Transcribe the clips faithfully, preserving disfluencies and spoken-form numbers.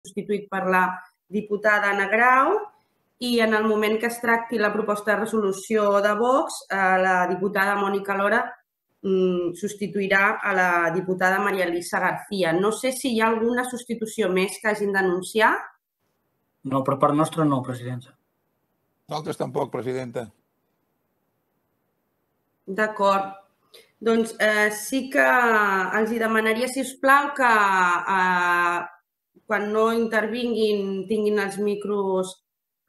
substituït per la diputada Anna Grau, i en el moment que es tracti la proposta de resolució de Vox, la diputada Mònica Lora substituirà a la diputada Maria Elisa García. No sé si hi ha alguna substitució més que hagin d'anunciar. No, per part nostra no, presidenta. Nosaltres tampoc, presidenta. D'acord. Doncs sí que els demanaria, si us plau, que quan no intervinguin tinguin els micros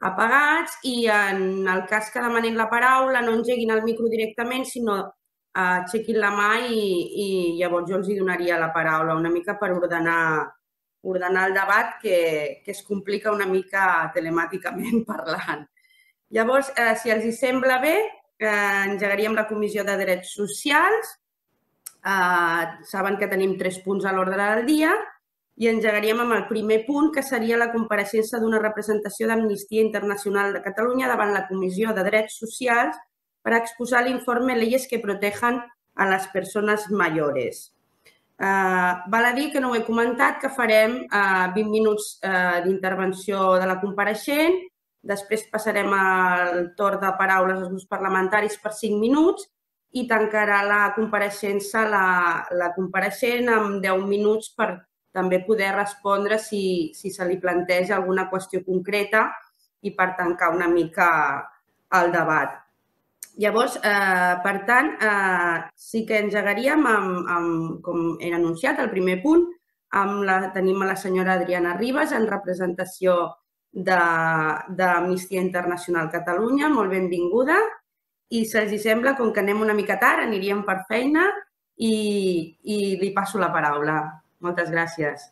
apagats i en el cas que demanin la paraula no engeguin el micro directament, sinó aixequin la mà i llavors jo els donaria la paraula una mica per ordenar el debat, que es complica una mica telemàticament parlant. Llavors, si els sembla bé, engegaríem la Comissió de Drets Socials. Saben que tenim tres punts a l'ordre del dia i engegaríem amb el primer punt, que seria la compareixença d'una representació d'Amnistia Internacional de Catalunya davant la Comissió de Drets Socials per exposar l'informe Leyes que protejan a les persones mayores. Val a dir que no ho he comentat, que farem vint minuts d'intervenció de la compareixent, després passarem al torn de paraules als grups parlamentaris per cinc minuts i tancarà la compareixença la compareixent amb deu minuts per també poder respondre si se li planteja alguna qüestió concreta i per tancar una mica el debat. Llavors, per tant, sí que engegaríem, com he anunciat, el primer punt. Tenim a la senyora Adriana Ribas en representació d'Amnistia Internacional Catalunya. Molt benvinguda. I si els sembla, com que anem una mica tard, aniríem per feina i li passo la paraula. Moltes gràcies.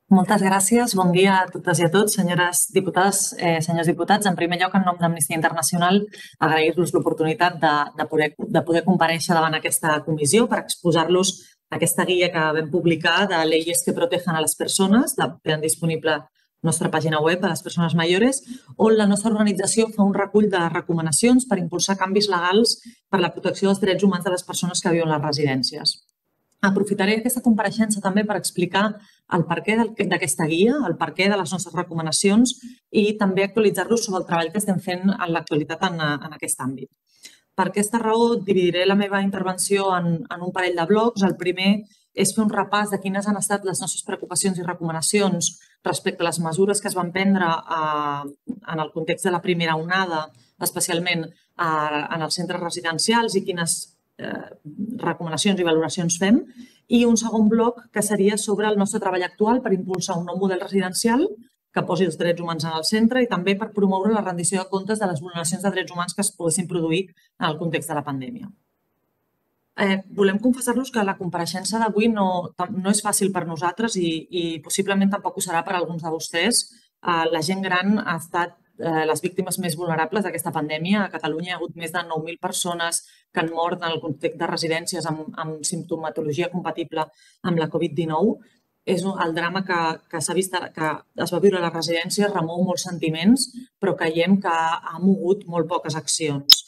Moltes gràcies. Bon dia a totes i a tots, senyores diputades, senyors diputats. En primer lloc, en nom d'Amnistia Internacional, agrair-los l'oportunitat de poder comparèixer davant aquesta comissió per exposar-los aquesta guia que vam publicar de Leyes que protejan a les persones, que tenen disponible a la nostra pàgina web a les persones mayores, on la nostra organització fa un recull de recomanacions per impulsar canvis legals per la protecció dels drets humans de les persones que viuen a les residències. Aprofitaré aquesta compareixença també per explicar el perquè d'aquesta guia, el perquè de les nostres recomanacions i també actualitzar-los sobre el treball que estem fent en l'actualitat en aquest àmbit. Per aquesta raó, dividiré la meva intervenció en un parell de blocs. El primer és fer un repàs de quines han estat les nostres preocupacions i recomanacions respecte a les mesures que es van prendre en el context de la primera onada, especialment en els centres residencials i quines recomanacions i valoracions fem, i un segon bloc que seria sobre el nostre treball actual per impulsar un nou model residencial que posi els drets humans en el centre i també per promoure la rendició de comptes de les vulneracions de drets humans que es poguessin produir en el context de la pandèmia. Volem confessar-los que la compareixença d'avui no és fàcil per nosaltres i possiblement tampoc ho serà per a alguns de vostès. La gent gran ha estat les víctimes més vulnerables d'aquesta pandèmia. A Catalunya hi ha hagut més de nou mil persones que han mort en el context de residències amb simptomatologia compatible amb la Covid dinou. El drama que es va viure a les residències remou molts sentiments, però creiem que ha mogut molt poques accions.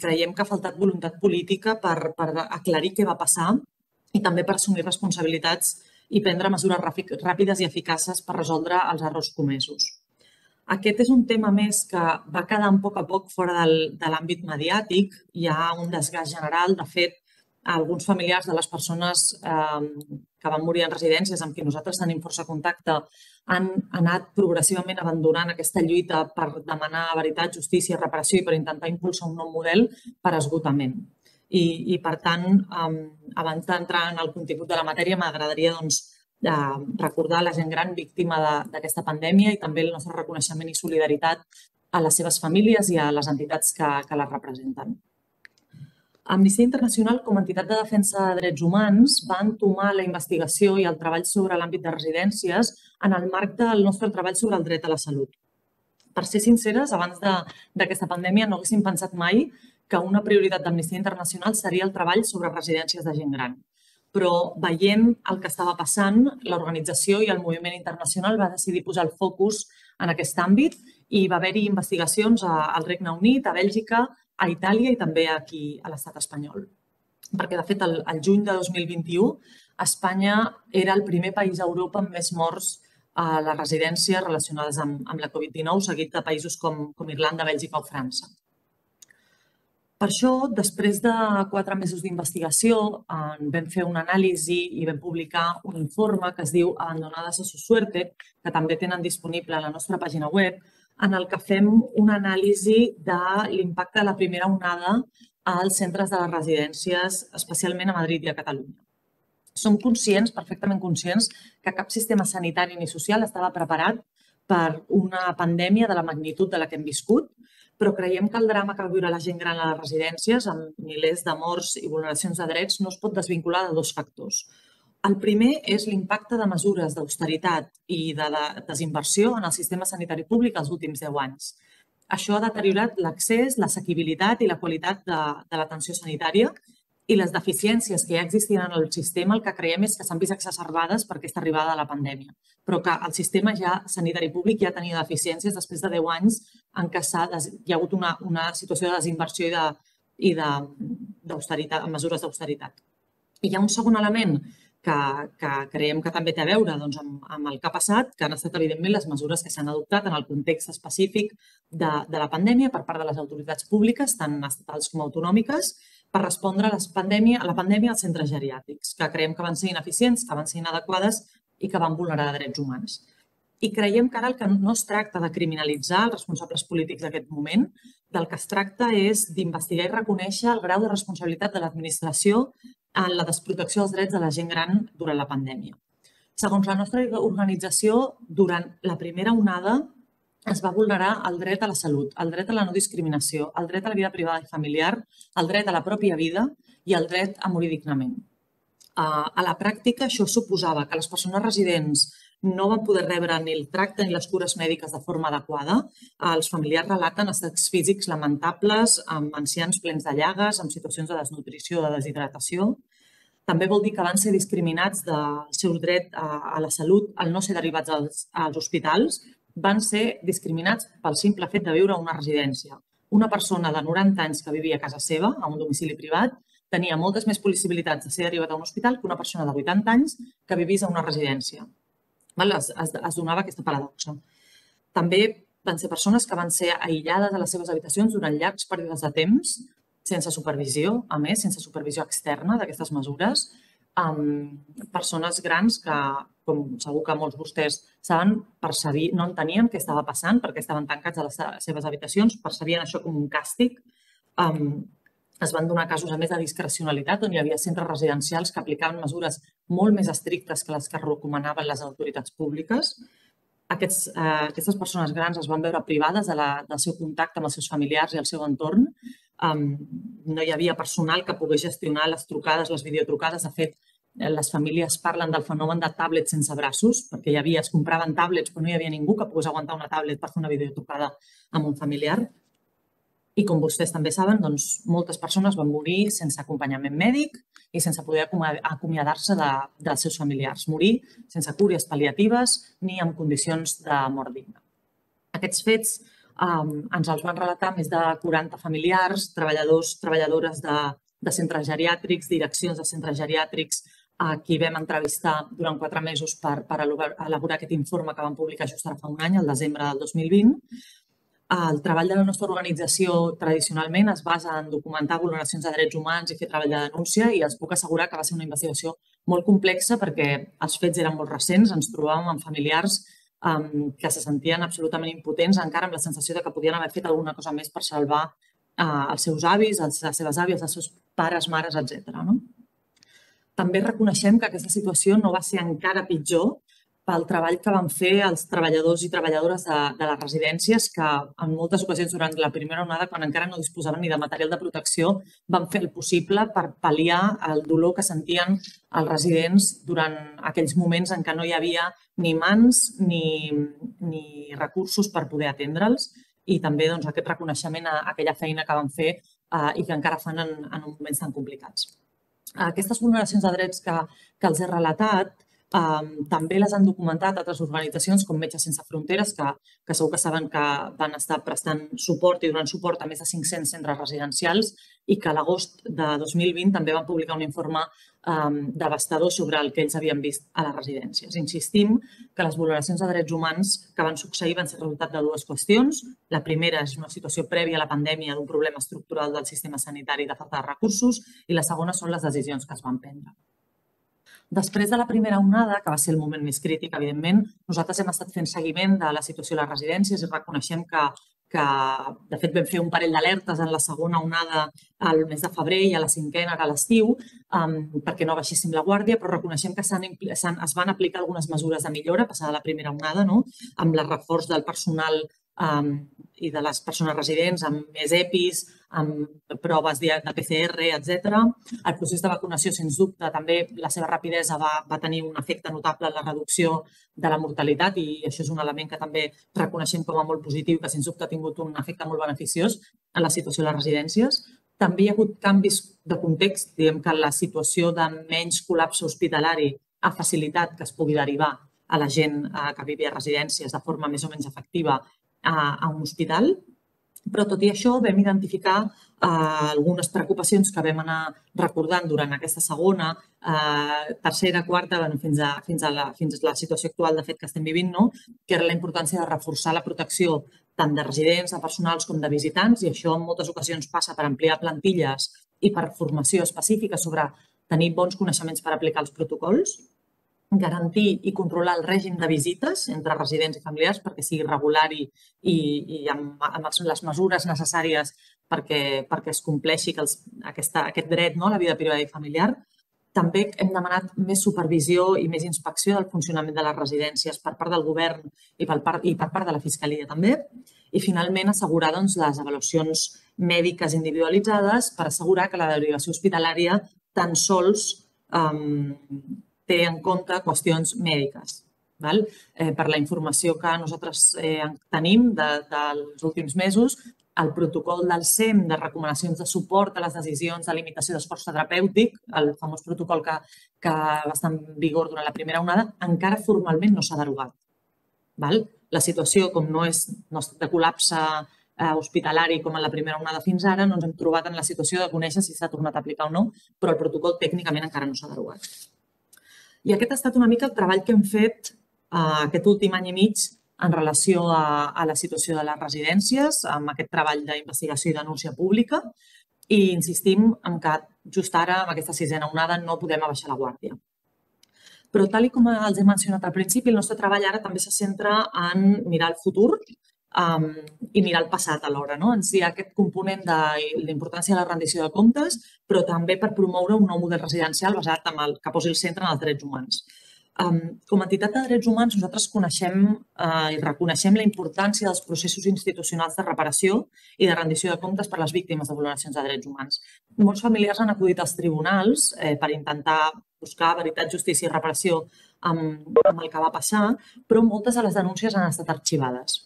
Creiem que ha faltat voluntat política per aclarir què va passar i també per assumir responsabilitats i prendre mesures ràpides i eficaces per resoldre els errors comesos. Aquest és un tema més que va quedant a poc a poc fora de l'àmbit mediàtic. Hi ha un desgast general. De fet, alguns familiars de les persones que van morir en residències amb qui nosaltres tenim força contacte han anat progressivament abandonant aquesta lluita per demanar veritat, justícia, reparació i per intentar impulsar un nou model per esgotament. I, per tant, abans d'entrar en el contingut de la matèria, m'agradaria recordar la gent gran víctima d'aquesta pandèmia i també el nostre reconeixement i solidaritat a les seves famílies i a les entitats que les representen. Amnistia Internacional, com a entitat de defensa de drets humans, va entomar la investigació i el treball sobre l'àmbit de residències en el marc del nostre treball sobre el dret a la salut. Per ser sinceres, abans d'aquesta pandèmia no haguéssim pensat mai que una prioritat d'Amnistia Internacional seria el treball sobre residències de gent gran. Però veient el que estava passant, l'organització i el moviment internacional va decidir posar el focus en aquest àmbit i va haver-hi investigacions al Regne Unit, a Bèlgica, a Itàlia i també aquí a l'estat espanyol. Perquè, de fet, el juny de dos mil vint-i-u Espanya era el primer país a Europa amb més morts a les residències relacionades amb la Covid dinou, seguit de països com Irlanda, Bèlgica o França. Per això, després de quatre mesos d'investigació, vam fer una anàlisi i vam publicar un informe que es diu Abandonadas a su suerte, que també tenen disponible a la nostra pàgina web, en el que fem una anàlisi de l'impacte de la primera onada als centres de les residències, especialment a Madrid i a Catalunya. Som conscients, perfectament conscients, que cap sistema sanitari ni social estava preparat per una pandèmia de la magnitud de la que hem viscut, però creiem que el drama que va viure la gent gran a les residències, amb milers de morts i vulneracions de drets, no es pot desvincular de dos factors. El primer és l'impacte de mesures d'austeritat i de desinversió en el sistema sanitari públic els últims deu anys. Això ha deteriorat l'accés, l'assequibilitat i la qualitat de l'atenció sanitària i les deficiències que ja existien en el sistema, el que creiem és que s'han vist exacerbades per aquesta arribada de la pandèmia, però que el sistema sanitari públic ja tenia deficiències després de deu anys en què hi ha hagut una situació de desinversió i de mesures d'austeritat. I hi ha un segon element que creiem que també té a veure amb el que ha passat, que han estat, evidentment, les mesures que s'han adoptat en el context específic de la pandèmia per part de les autoritats públiques, tant estatals com autonòmiques, per respondre a la pandèmia als centres geriàtrics, que creiem que van ser ineficients, que van ser inadequades i que van vulnerar drets humans. I creiem que ara el que no es tracta de criminalitzar els responsables polítics d'aquest moment, del que es tracta és d'investigar i reconèixer el grau de responsabilitat de l'administració en la desprotecció dels drets de la gent gran durant la pandèmia. Segons la nostra organització, durant la primera onada es va vulnerar el dret a la salut, el dret a la no discriminació, el dret a la vida privada i familiar, el dret a la pròpia vida i el dret a morir dignament. A la pràctica, això suposava que les persones residents no van poder rebre ni el tracte ni les cures mèdiques de forma adequada. Els familiars relaten estats físics lamentables, amb ancians plens de llagues, amb situacions de desnutrició o de deshidratació. També vol dir que van ser discriminats del seu dret a la salut al no ser derivats als hospitals, van ser discriminats pel simple fet de viure a una residència. Una persona de noranta anys que vivia a casa seva, a un domicili privat, tenia moltes més possibilitats de ser derivat a un hospital que una persona de vuitanta anys que vivís a una residència. Es donava aquesta paradoxa. També van ser persones que van ser aïllades a les seves habitacions durant llargs períodes de temps, sense supervisió, a més, sense supervisió externa d'aquestes mesures, amb persones grans que, com segur que molts de vostès saben, no entenien què estava passant perquè estaven tancats a les seves habitacions, percebien això com un càstig. Es van donar casos, a més, de discrecionalitat, on hi havia centres residencials que aplicaven mesures molt més estrictes que les que recomanaven les autoritats públiques. Aquestes persones grans es van veure privades del seu contacte amb els seus familiars i el seu entorn. No hi havia personal que pogués gestionar les trucades, les videotrucades. De fet, les famílies parlen del fenomen de tablets sense braços, perquè hi havia, es compraven tablets, però no hi havia ningú que pogués aguantar una tablet per fer una videotrucada amb un familiar. I com vostès també saben, moltes persones van morir sense acompanyament mèdic i sense poder acomiadar-se dels seus familiars. Morir sense cures pal·liatives ni en condicions de mort digna. Aquests fets ens els van relatar més de quaranta familiars, treballadors, treballadores de centres geriàtrics, direccions de centres geriàtrics, a qui vam entrevistar durant quatre mesos per elaborar aquest informe que vam publicar just ara fa un any, el desembre del dos mil vint. El treball de la nostra organització tradicionalment es basa en documentar vulneracions de drets humans i fer treball de denúncia, i els puc assegurar que va ser una investigació molt complexa perquè els fets eren molt recents. Ens trobàvem amb familiars que se sentien absolutament impotents, encara amb la sensació que podien haver fet alguna cosa més per salvar els seus avis, les seves àvies, els seus pares, mares, etcètera. També reconeixem que aquesta situació no va ser encara pitjor pel treball que van fer els treballadors i treballadores de les residències, que en moltes ocasions durant la primera onada, quan encara no disposaven ni de material de protecció, van fer el possible per pal·liar el dolor que sentien els residents durant aquells moments en què no hi havia ni mans ni recursos per poder atendre'ls, i també aquest reconeixement a aquella feina que van fer i que encara fan en moments tan complicats. Aquestes vulneracions de drets que els he relatat També les han documentat altres organitzacions com Metges Sense Fronteres, que segur que saben que van estar prestant suport i donant suport a més de cinc-cents centres residencials i que a l'agost de dos mil vint també van publicar un informe devastador sobre el que ells havien vist a les residències. Insistim que les vulneracions de drets humans que van succeir van ser resultat de dues qüestions. La primera és una situació prèvia a la pandèmia d'un problema estructural del sistema sanitari de falta de recursos i la segona són les decisions que es van prendre. Després de la primera onada, que va ser el moment més crític, evidentment, nosaltres hem estat fent seguiment de la situació a les residències i reconeixem que, que de fet, vam fer un parell d'alertes en la segona onada al mes de febrer i a la cinquena, a l'estiu, perquè no baixéssim la guàrdia, però reconeixem que es van aplicar algunes mesures de millora passada la primera onada, amb el reforç del personal i de les persones residents, amb més E P Is, amb proves de P C R, etcètera. El procés de vacunació, sens dubte, també la seva rapidesa va tenir un efecte notable en la reducció de la mortalitat i això és un element que també reconeixem com a molt positiu, que sens dubte ha tingut un efecte molt beneficiós en la situació de les residències. També hi ha hagut canvis de context, diguem que la situació de menys col·lapse hospitalari ha facilitat que es pugui derivar a la gent que vivia a residències de forma més o menys efectiva a un hospital, però tot i això vam identificar algunes preocupacions que vam anar recordant durant aquesta segona, tercera, quarta, fins a la situació actual de fet que estem vivint, que era la importància de reforçar la protecció tant de residents, de personals com de visitants, i això en moltes ocasions passa per ampliar plantilles i per formació específica sobre tenir bons coneixements per aplicar els protocols, garantir i controlar el règim de visites entre residents i familiars perquè sigui regular i amb les mesures necessàries perquè es compleixi aquest dret a la vida privada i familiar. També hem demanat més supervisió i més inspecció del funcionament de les residències per part del govern i per part de la Fiscalia també. I finalment assegurar les avaluacions mèdiques individualitzades per assegurar que la derivació hospitalària tan sols té en compte qüestions mèdiques. Per la informació que nosaltres tenim dels últims mesos, el protocol del S E M de recomanacions de suport a les decisions de limitació d'esforç terapèutic, el famós protocol que va estar en vigor durant la primera onada, encara formalment no s'ha derogat. La situació, com no és de col·lapse hospitalari com en la primera onada fins ara, no ens hem trobat en la situació de conèixer si s'ha tornat a aplicar o no, però el protocol tècnicament encara no s'ha derogat. I aquest ha estat una mica el treball que hem fet aquest últim any i mig en relació a la situació de les residències, amb aquest treball d'investigació i denúncia pública, i insistim en que just ara, amb aquesta sisena onada, no podem abaixar la guàrdia. Però, tal com els he mencionat al principi, el nostre treball ara també se centra en mirar el futur i mirar el passat alhora. Hi ha aquest component de l'importància de la rendició de comptes, però també per promoure un nou model residencial basat en el que posi el centre en els drets humans. Com a entitat de drets humans, nosaltres coneixem i reconeixem la importància dels processos institucionals de reparació i de rendició de comptes per a les víctimes de vulneracions de drets humans. Molts familiars han acudit als tribunals per intentar buscar veritat, justícia i reparació amb el que va passar, però moltes de les denúncies han estat arxivades.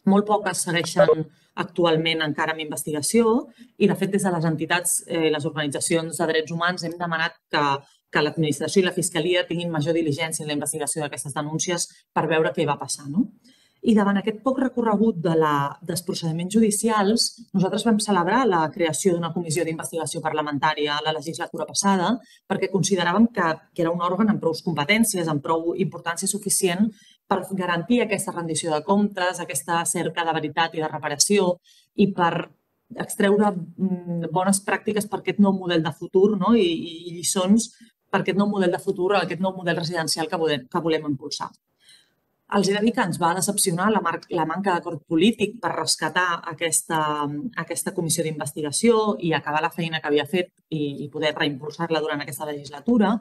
Molt poques segueixen actualment encara amb investigació i, de fet, des de les entitats i les organitzacions de drets humans hem demanat que l'administració i la Fiscalia tinguin major diligència en la investigació d'aquestes denúncies per veure què va passar. I davant aquest poc recorregut dels procediments judicials, nosaltres vam celebrar la creació d'una comissió d'investigació parlamentària a la legislatura passada perquè consideràvem que era un òrgan amb prou competències, amb prou importància suficient per garantir aquesta rendició de comptes, aquesta cerca de veritat i de reparació i per extreure bones pràctiques per aquest nou model de futur i lliçons per aquest nou model de futur, aquest nou model residencial que volem impulsar. Els he de dir que ens va decepcionar la manca d'acord polític per rescatar aquesta comissió d'investigació i acabar la feina que havia fet i poder reimpulsar-la durant aquesta legislatura.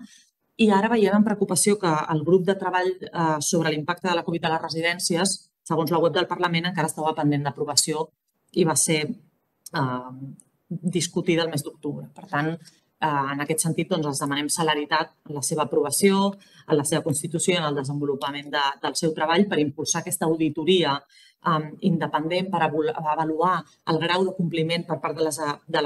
I ara veiem amb preocupació que el grup de treball sobre l'impacte de la Covid a les residències, segons la web del Parlament, encara estava pendent d'aprovació i va ser discutida el mes d'octubre. Per tant, En aquest sentit, els demanem celeritat en la seva aprovació, en la seva constitució i en el desenvolupament del seu treball per impulsar aquesta auditoria independent per avaluar el grau de compliment per part de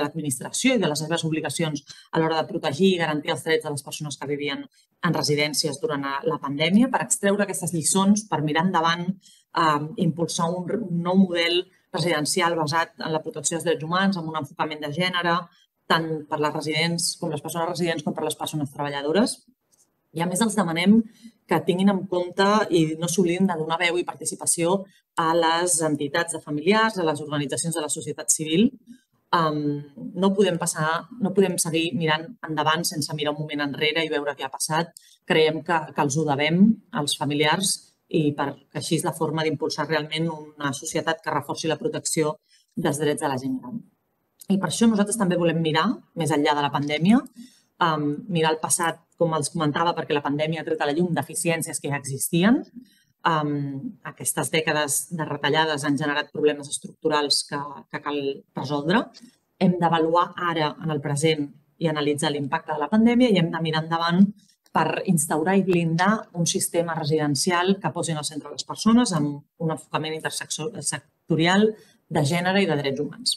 l'administració i de les seves obligacions a l'hora de protegir i garantir els drets de les persones que vivien en residències durant la pandèmia, per extreure aquestes lliçons, per mirar endavant, impulsar un nou model residencial basat en la protecció dels drets humans, amb un enfocament de gènere, tant per les residents com les persones residents com per les persones treballadores. I a més els demanem que tinguin en compte i no s'oblidin de donar veu i participació a les entitats de familiars, a les organitzacions de la societat civil. No podem passar, no podem seguir mirant endavant sense mirar un moment enrere i veure què ha passat. Creiem que els ho devem als familiars i perquè així és la forma d'impulsar realment una societat que reforci la protecció dels drets de la gent gran. I per això nosaltres també volem mirar, més enllà de la pandèmia, mirar el passat, com els comentava, perquè la pandèmia ha tret a la llum deficiències que ja existien. Aquestes dècades de retallades han generat problemes estructurals que cal resoldre. Hem d'avaluar ara, en el present, i analitzar l'impacte de la pandèmia i hem de mirar endavant per instaurar i blindar un sistema residencial que posi en el centre les persones amb un enfocament intersectorial de gènere i de drets humans.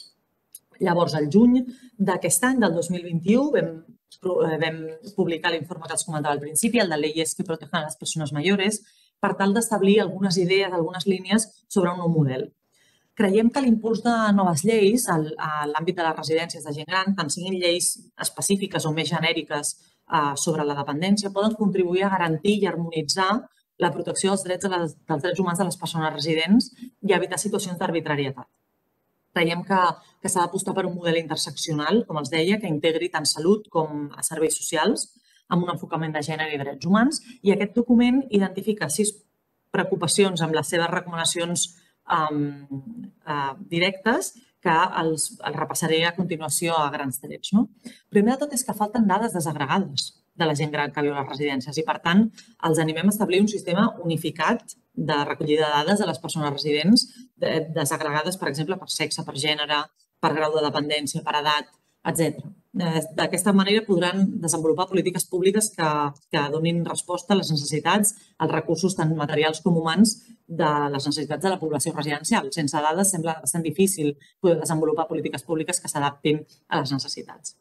Llavors, al juny d'aquest any, del dos mil vint-i-u, vam publicar l'informe que els comentava al principi, el de Leyes que protegen a les persones mayores, per tal d'establir algunes idees, algunes línies sobre un nou model. Creiem que l'impuls de noves lleis a l'àmbit de les residències de gent gran, tant siguin lleis específiques o més genèriques sobre la dependència, poden contribuir a garantir i harmonitzar la protecció dels drets, dels drets humans de les persones residents i evitar situacions d'arbitrarietat. Creiem que s'ha d'apostar per un model interseccional, com els deia, que integri tant salut com serveis socials, amb un enfocament de gènere i drets humans, i aquest document identifica sis preocupacions amb les seves recomanacions directes que els repassaré a continuació a grans trets. Primer de tot és que falten dades desagregades de la gent gran que viu a les residències i, per tant, els animem a establir un sistema unificat de recollida de dades de les persones residents desagregades, per exemple, per sexe, per gènere, per grau de dependència, per edat, etcètera. D'aquesta manera podran desenvolupar polítiques públiques que donin resposta a les necessitats, als recursos tant materials com humans de les necessitats de la població residencial. Sense dades sembla bastant difícil poder desenvolupar polítiques públiques que s'adaptin a les necessitats.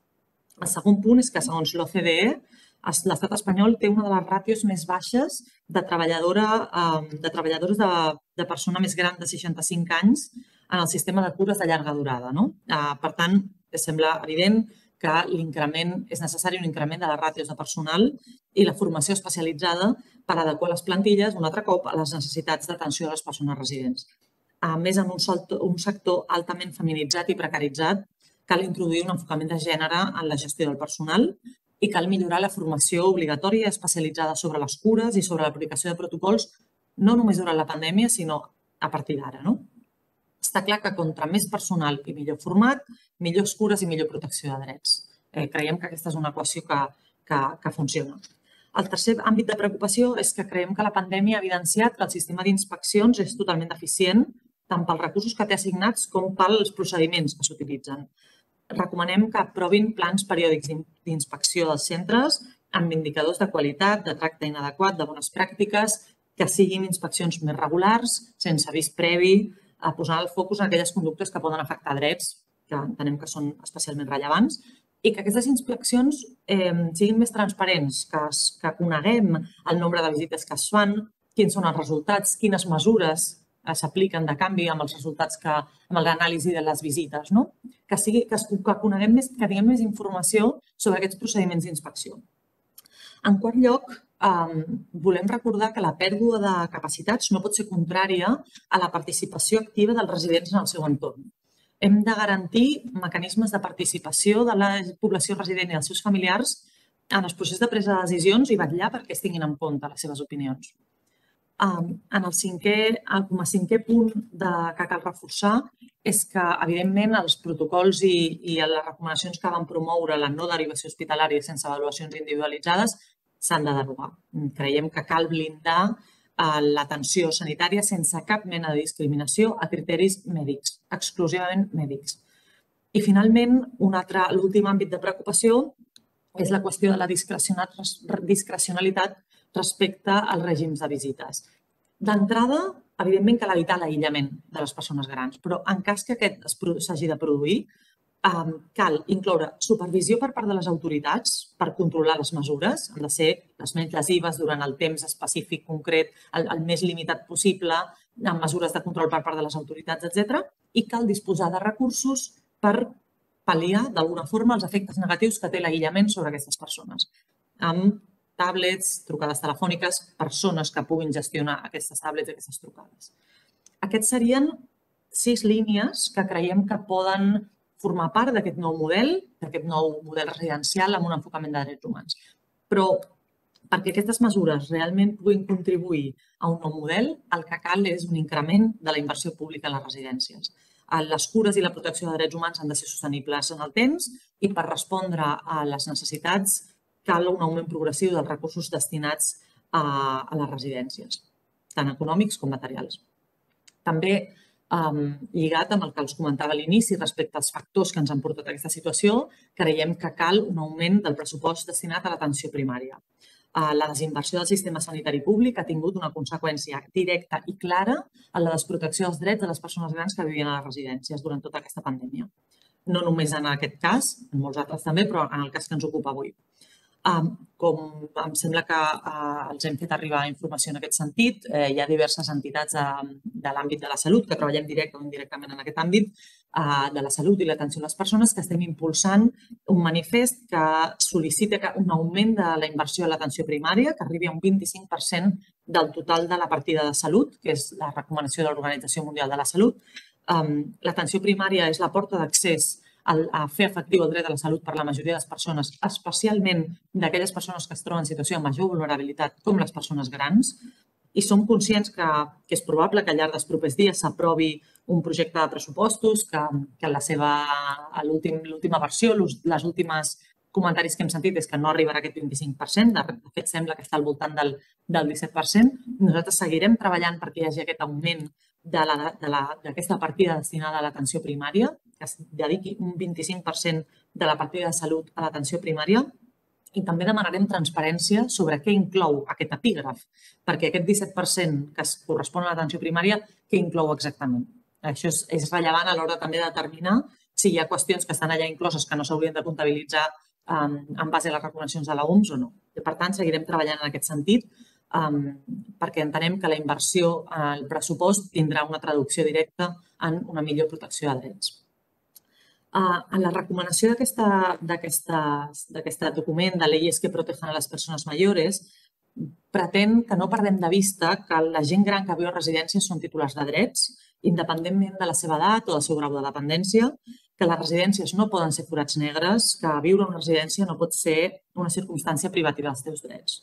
El segon punt és que, segons l'O C D E, l'estat espanyol té una de les ràtios més baixes de treballadores de persona més gran de seixanta-cinc anys en el sistema de cures de llarga durada. Per tant, sembla evident que l'increment és necessari, un increment de les ràtios de personal i la formació especialitzada per adequar les plantilles, un altre cop, a les necessitats d'atenció de les persones residents. A més, en un sector altament feminitzat i precaritzat, cal introduir un enfocament de gènere en la gestió del personal i cal millorar la formació obligatòria especialitzada sobre les cures i sobre l'aplicació de protocols, no només durant la pandèmia, sinó a partir d'ara. Està clar que contra més personal i millor format, millors cures i millor protecció de drets. Creiem que aquesta és una equació que funciona. El tercer àmbit de preocupació és que creiem que la pandèmia ha evidenciat que el sistema d'inspeccions és totalment deficient, tant pels recursos que té assignats com pels procediments que s'utilitzen. Recomanem que aprovin plans periòdics d'inspecció dels centres amb indicadors de qualitat, de tracte inadequat, de bones pràctiques, que siguin inspeccions més regulars, sense avís previ, posant el focus en aquelles conductes que poden afectar drets, que entenem que són especialment rellevants, i que aquestes inspeccions siguin més transparents, que coneguem el nombre de visites que es fan, quins són els resultats, quines mesures s'apliquen de canvi amb els resultats, amb l'anàlisi de les visites, que coneguem més, que tinguem més informació sobre aquests procediments d'inspecció. En quart lloc, volem recordar que la pèrdua de capacitats no pot ser contrària a la participació activa dels residents en el seu entorn. Hem de garantir mecanismes de participació de la població resident i dels seus familiars en els processos de presa de decisions i vetllar perquè es tinguin en compte les seves opinions. En el cinquè, com a cinquè punt que cal reforçar és que, evidentment, els protocols i les recomanacions que van promoure la no derivació hospitalària sense avaluacions individualitzades s'han de derogar. Creiem que cal blindar l'atenció sanitària sense cap mena de discriminació a criteris mèdics, exclusivament mèdics. I finalment, l'últim àmbit de preocupació és la qüestió de la discrecionalitat respecte als règims de visites. D'entrada, evidentment cal evitar l'aïllament de les persones grans, però en cas que aquest s'hagi de produir, cal incloure supervisió per part de les autoritats per controlar les mesures, han de ser les menys lesives durant el temps específic concret, el més limitat possible, amb mesures de control per part de les autoritats, etcètera, i cal disposar de recursos per pal·liar d'alguna forma els efectes negatius que té l'aïllament sobre aquestes persones, amb tablets, trucades telefòniques, persones que puguin gestionar aquestes tablets i aquestes trucades. Aquests serien sis línies que creiem que poden formar part d'aquest nou model, d'aquest nou model residencial amb un enfocament de drets humans. Però perquè aquestes mesures realment puguin contribuir a un nou model, el que cal és un increment de la inversió pública en les residències. Les cures i la protecció de drets humans han de ser sostenibles en el temps i per respondre a les necessitats cal un augment progressiu dels recursos destinats a les residències, tant econòmics com materials. També, lligat amb el que els comentava a l'inici respecte als factors que ens han portat a aquesta situació, creiem que cal un augment del pressupost destinat a l'atenció primària. La desinversió del sistema sanitari públic ha tingut una conseqüència directa i clara en la desprotecció dels drets de les persones grans que vivien a les residències durant tota aquesta pandèmia. No només en aquest cas, en molts altres també, però en el cas que ens ocupa avui. Com em sembla que els hem fet arribar informació en aquest sentit, hi ha diverses entitats de l'àmbit de la salut que treballem directe o indirectament en aquest àmbit de la salut i l'atenció a les persones que estem impulsant un manifest que sol·licita un augment de la inversió a l'atenció primària que arribi a un vint-i-cinc per cent del total de la partida de salut, que és la recomanació de l'Organització Mundial de la Salut. L'atenció primària és la porta d'accés a fer efectiu el dret a la salut per la majoria de les persones, especialment d'aquelles persones que es troben en situació de major vulnerabilitat, com les persones grans, i som conscients que és probable que al llarg dels propers dies s'aprovi un projecte de pressupostos que en la seva l'última versió, les últimes comentaris que hem sentit és que no arribarà a aquest vint-i-cinc per cent, de fet sembla que està al voltant del disset per cent. Nosaltres seguirem treballant perquè hi hagi aquest augment d'aquesta partida destinada a l'atenció primària, que es dediqui un vint-i-cinc per cent de la partida de salut a l'atenció primària, i també demanarem transparència sobre què inclou aquest epígraf, perquè aquest disset per cent que es correspon a l'atenció primària, què inclou exactament? Això és rellevant a l'hora també de determinar si hi ha qüestions que estan allà incloses que no s'haurien de comptabilitzar en base a les recomanacions de l'O M S o no. Per tant, seguirem treballant en aquest sentit perquè entenem que la inversió al pressupost tindrà una traducció directa en una millor protecció de drets. En la recomanació d'aquest document de leyes que protegen a les persones mayores pretén que no perdem de vista que la gent gran que viu a residències són titulars de drets, independentment de la seva edat o del seu grau de dependència, que les residències no poden ser forats negres, que viure a una residència no pot ser una circumstància privativa dels teus drets.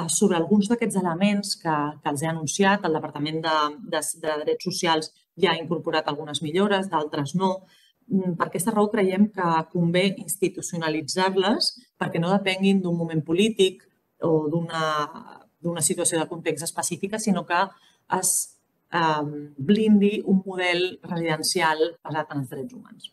Sobre alguns d'aquests elements que els he anunciat, el Departament de Drets Socials ja ha incorporat algunes millores, d'altres no. Per aquesta raó creiem que convé institucionalitzar-les perquè no depenguin d'un moment polític o d'una situació de context específica, sinó que es blindi un model residencial basat en els drets humans.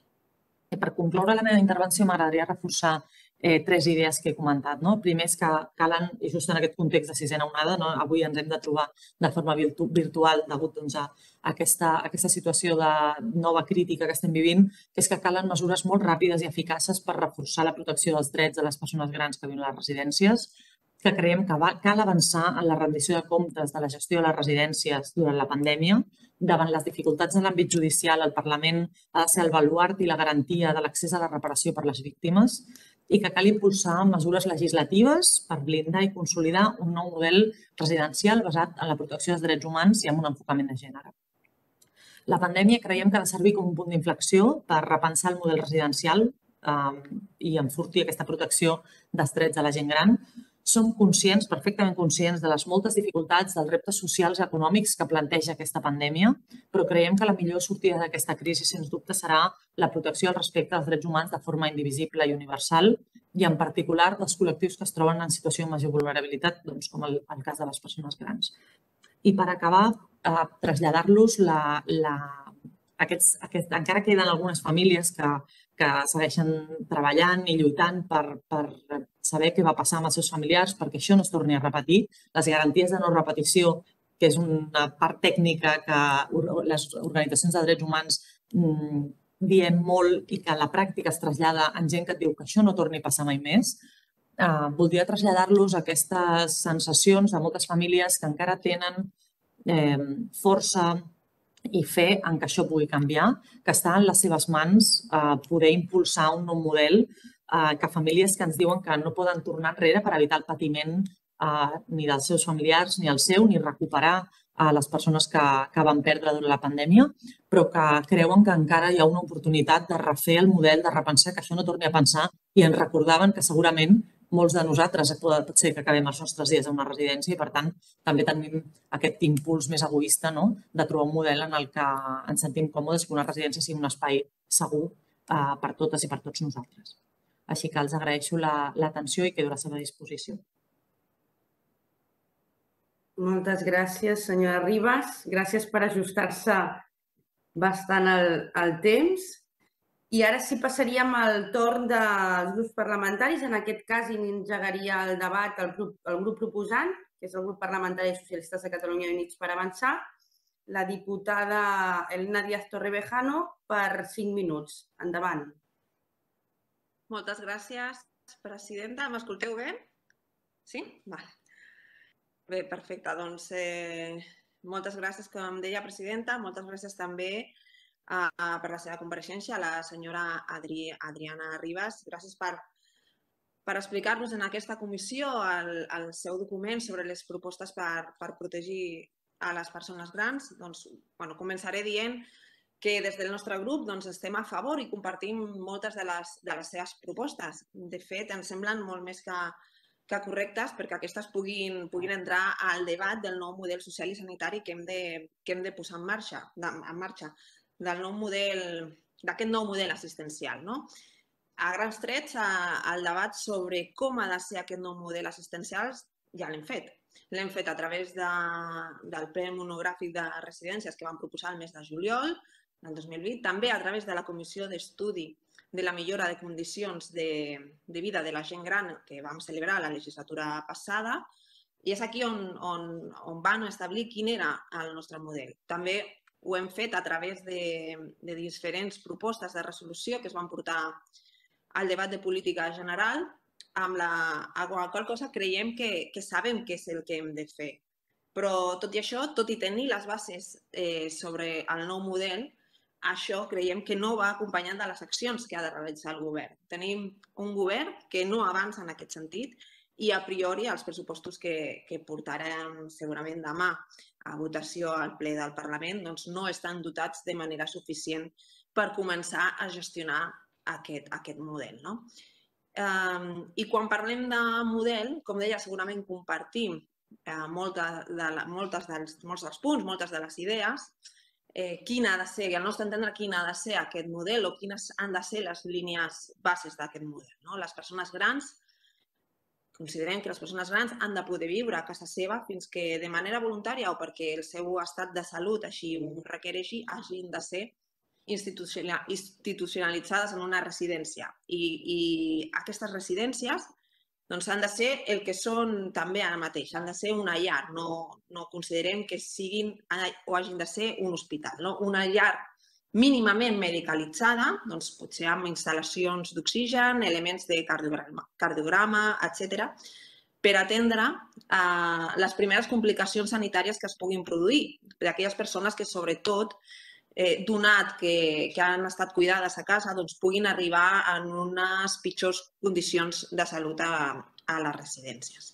Per concloure la meva intervenció m'agradaria reforçar tres idees que he comentat. Primer és que calen, i just en aquest context de sisena onada, avui ens hem de trobar de forma virtual degut a aquesta situació de nova crítica que estem vivint, que és que calen mesures molt ràpides i eficaces per reforçar la protecció dels drets de les persones grans que viuen a les residències, que creiem que cal avançar en la rendició de comptes de la gestió de les residències durant la pandèmia. Davant les dificultats en l'àmbit judicial, el Parlament ha de ser el baluard i la garantia de l'accés a la reparació per les víctimes i que cal impulsar mesures legislatives per blindar i consolidar un nou model residencial basat en la protecció dels drets humans i amb un enfocament de gènere. La pandèmia creiem que ha de servir com un punt d'inflexió per repensar el model residencial i enfortir aquesta protecció dels drets de la gent gran. Som conscients, perfectament conscients, de les moltes dificultats, dels reptes socials i econòmics que planteja aquesta pandèmia, però creiem que la millor sortida d'aquesta crisi, sens dubte, serà la protecció al respecte dels drets humans de forma indivisible i universal i, en particular, dels col·lectius que es troben en situació de major vulnerabilitat, com el cas de les persones grans. I per acabar, traslladar-los, encara queden algunes famílies que que segueixen treballant i lluitant per, per saber què va passar amb els seus familiars perquè això no es torni a repetir. Les garanties de no repetició, que és una part tècnica que les organitzacions de drets humans mmm, diem molt i que a la pràctica es trasllada en gent que et diu que això no torni a passar mai més. Uh, voldria traslladar-los aquestes sensacions de moltes famílies que encara tenen eh, força i fe en que això pugui canviar, que està en les seves mans eh, poder impulsar un nou model, eh, que famílies que ens diuen que no poden tornar enrere per evitar el patiment eh, ni dels seus familiars ni el seu, ni recuperar a les persones que, que van perdre durant la pandèmia, però que creuen que encara hi ha una oportunitat de refer el model, de repensar que això no torni a pensar i ens recordaven que segurament molts de nosaltres pot ser que acabem els nostres dies a una residència i, per tant, també tenim aquest impuls més egoista de trobar un model en el que ens sentim còmodes que una residència sigui un espai segur per totes i per tots nosaltres. Així que els agraeixo l'atenció i quedo a la seva disposició. Moltes gràcies, senyora Ribas. Gràcies per ajustar-se bastant al temps. I ara sí passaríem al torn dels grups parlamentaris. En aquest cas engegaria el debat el grup, el grup proposant, que és el grup parlamentari socialistes de Catalunya i Units per Avançar, la diputada Elena Díaz Torrevejano per cinc minuts. Endavant. Moltes gràcies, presidenta. M'escolteu bé? Sí? Val. Bé, perfecte. Doncs eh, moltes gràcies, com deia, presidenta. Moltes gràcies també Uh, per la seva compareixença, a la senyora Adri, Adriana Ribas. Gràcies per, per explicar-nos en aquesta comissió el, el seu document sobre les propostes per, per protegir a les persones grans. Doncs, bueno, començaré dient que des del nostre grup doncs, estem a favor i compartim moltes de les, de les seves propostes. De fet, ens semblen molt més que, que correctes perquè aquestes puguin, puguin entrar al debat del nou model social i sanitari que hem de, que hem de posar en marxa. De, en marxa. del nou model, d'aquest nou model assistencial. No? A grans trets, el debat sobre com ha de ser aquest nou model assistencial ja l'hem fet. L'hem fet a través de, del ple monogràfic de residències que vam proposar el mes de juliol del dos mil vint, també a través de la Comissió d'Estudi de la millora de condicions de, de vida de la gent gran que vam celebrar la legislatura passada, i és aquí on, on, on van establir quin era el nostre model. També ho hem fet a través de, de diferents propostes de resolució que es van portar al debat de política general, amb la, amb la qual cosa creiem que, que sabem què és el que hem de fer. Però tot i això, tot i tenir les bases eh, sobre el nou model, això creiem que no va acompanyant de les accions que ha de realitzar el govern. Tenim un govern que no avança en aquest sentit i a priori els pressupostos que, que portarem segurament demà a votació al ple del Parlament doncs no estan dotats de manera suficient per començar a gestionar aquest, aquest model. No? Eh, I quan parlem de model, com deia, segurament compartim eh, molta de la, moltes dels, molts dels punts, moltes de les idees, eh, quina ha de ser, i al nostre entendre, quina ha de ser aquest model o quines han de ser les línies bases d'aquest model. No? Les persones grans Considerem que les persones grans han de poder viure a casa seva fins que de manera voluntària o perquè el seu estat de salut així ho requereixi hagin de ser institucionalitzades en una residència. I, i aquestes residències doncs, han de ser el que són també ara mateix, han de ser una llar. No, no considerem que siguin o hagin de ser un hospital. No? Una llar mínimament medicalitzada, doncs potser amb instal·lacions d'oxigen, elements de cardiograma, cardiograma etcètera, per atendre eh, les primeres complicacions sanitàries que es puguin produir d'aquelles persones que, sobretot, eh, donat que, que han estat cuidades a casa, doncs puguin arribar en unes pitjors condicions de salut a, a les residències.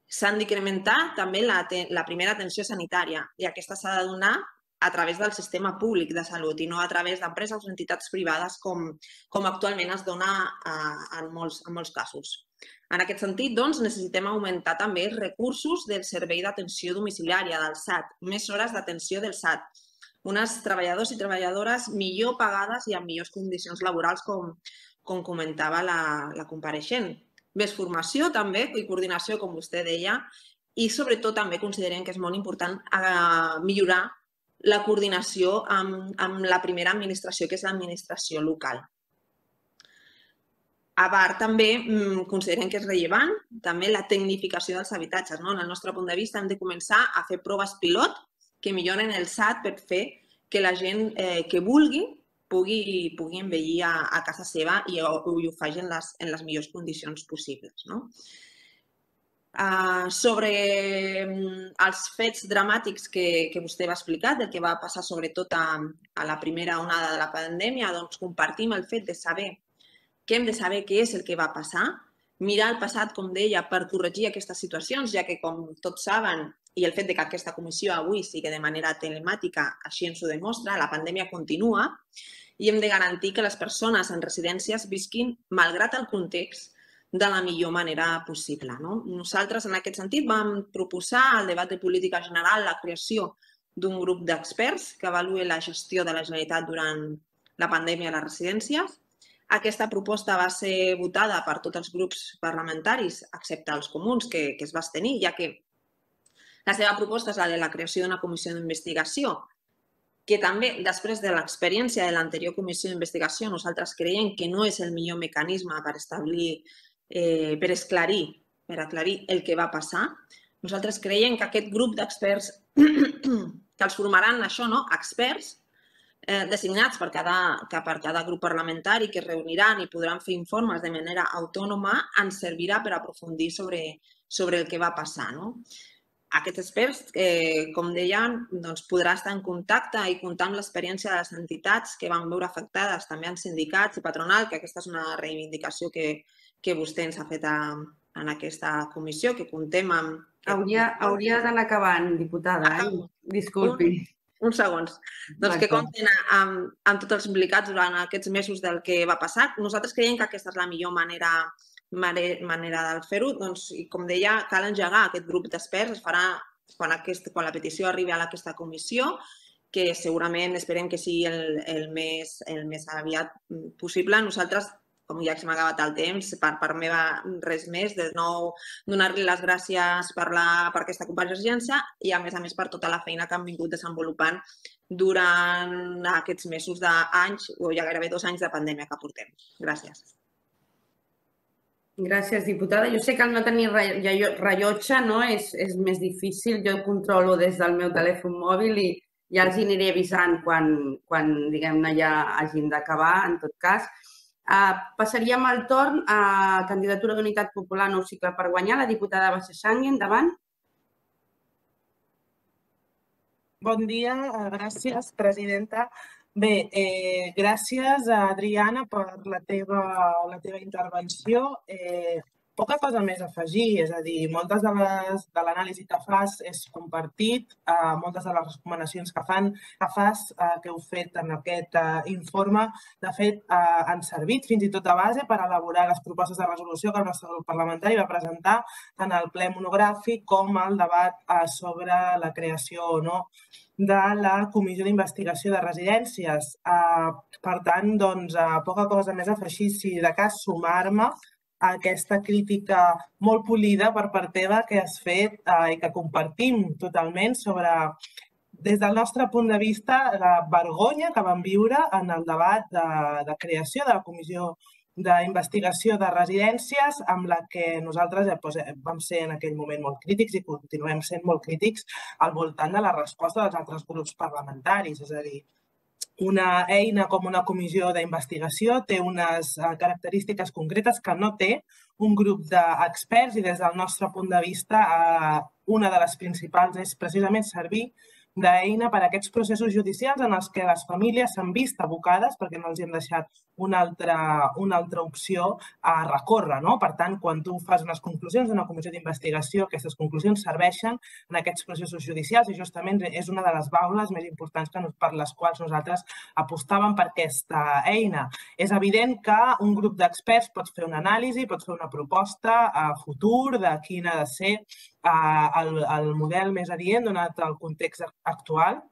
S'han d'incrementar també la, la primera atenció sanitària i aquesta s'ha de donar a través del sistema públic de salut i no a través d'empreses o entitats privades com, com actualment es dona eh, en, molts, en molts casos. En aquest sentit, doncs, necessitem augmentar també els recursos del servei d'atenció domiciliària del S A T, més hores d'atenció del S A T, unes treballadors i treballadores millor pagades i en millors condicions laborals, com, com comentava la, la compareixent. Més formació també i coordinació, com vostè deia, i sobretot també considerem que és molt important eh, millorar la coordinació amb, amb la primera administració, que és l'administració local. A part, també considerem que és rellevant també la tecnificació dels habitatges. En el nostre punt de vista, hem de començar a fer proves pilot que milloren el S A T per fer que la gent que vulgui pugui envellir a casa seva i ho faci en les millors condicions possibles. Sobre els fets dramàtics que vostè va explicar, del que va passar sobretot a la primera onada de la pandèmia, doncs compartim el fet de saber que hem de saber què és el que va passar, mirar el passat, com deia, per corregir aquestes situacions, ja que, com tots saben, i el fet que aquesta comissió avui sigui de manera telemàtica, així ens ho demostra, la pandèmia continua i hem de garantir que les persones en residències visquin, malgrat el context, de la millor manera possible. Nosaltres, en aquest sentit, vam proposar al debat de política general la creació d'un grup d'experts que avaluï la gestió de la Generalitat durant la pandèmia a les residències. Aquesta proposta va ser votada per tots els grups parlamentaris, excepte els comuns, que es va abstenir, ja que la seva proposta és la de la creació d'una comissió d'investigació, que també, després de l'experiència de l'anterior comissió d'investigació, nosaltres creiem que no és el millor mecanisme per establir, per esclarir, per aclarir el que va passar. Nosaltres creiem que aquest grup d'experts, que els formaran això, experts, designats per cada grup parlamentari que es reuniran i podran fer informes de manera autònoma, ens servirà per aprofundir sobre el que va passar. Aquests experts, com deien, podran estar en contacte i comptar amb l'experiència de les entitats que van veure afectades, també en sindicats i patronal, que aquesta és una reivindicació que vostè ens ha fet en aquesta comissió, que comptem amb... Hauria d'anar acabant, diputada. Disculpi. Uns segons. Doncs que compten amb tots els implicats durant aquests mesos del que va passar. Nosaltres creiem que aquesta és la millor manera de fer-ho. I com deia, cal engegar aquest grup d'experts. Es farà quan la petició arribi a aquesta comissió, que segurament esperem que sigui el més aviat possible. Nosaltres, com ja se m'ha acabat el temps, per part meva res més, de nou donar-li les gràcies per aquesta compareixença i, a més a més, per tota la feina que han vingut desenvolupant durant aquests mesos d'anys, o ja gairebé dos anys de pandèmia que portem. Gràcies. Gràcies, diputada. Jo sé que al no tenir rellotge és més difícil. Jo controlo des del meu telèfon mòbil i ja els aniré avisant quan, diguem-ne, ja hagin d'acabar, en tot cas. Passaríem al torn a candidatura d'Unitat Popular Nou Cicle per Guanyar. La diputada Bassa Xangue, endavant. Bon dia, gràcies, presidenta. Bé, gràcies, Adriana, per la teva intervenció. Poca cosa més a afegir, és a dir, moltes de l'anàlisi que fas és compartit, moltes de les recomanacions que fas, que heu fet en aquest informe, de fet, han servit fins i tot de base per elaborar les propostes de resolució que el nostre grup parlamentari va presentar tant al ple monogràfic com al debat sobre la creació o no de la Comissió d'Investigació de Residències. Per tant, doncs, poca cosa més a afegir, si de cas sumar-me a aquesta crítica molt polida per part teva que has fet i que compartim totalment sobre, des del nostre punt de vista, la vergonya que vam viure en el debat de creació de la Comissió d'investigació de residències, amb la que nosaltres vam ser en aquell moment molt crítics i continuem sent molt crítics al voltant de la resposta dels altres grups parlamentaris. És a dir, una eina com una comissió d'investigació té unes característiques concretes que no té un grup d'experts i des del nostre punt de vista una de les principals és precisament servir d'eina per a aquests processos judicials en els que les famílies s'han vist abocades perquè no els hem deixat una altra opció a recórrer. Per tant, quan tu fas unes conclusions d'una comissió d'investigació, aquestes conclusions serveixen en aquests processos judicials i justament és una de les baules més importants per les quals nosaltres apostàvem per aquesta eina. És evident que un grup d'experts pot fer una anàlisi, pot fer una proposta a futur de quin ha de ser el model més adient donat el context actual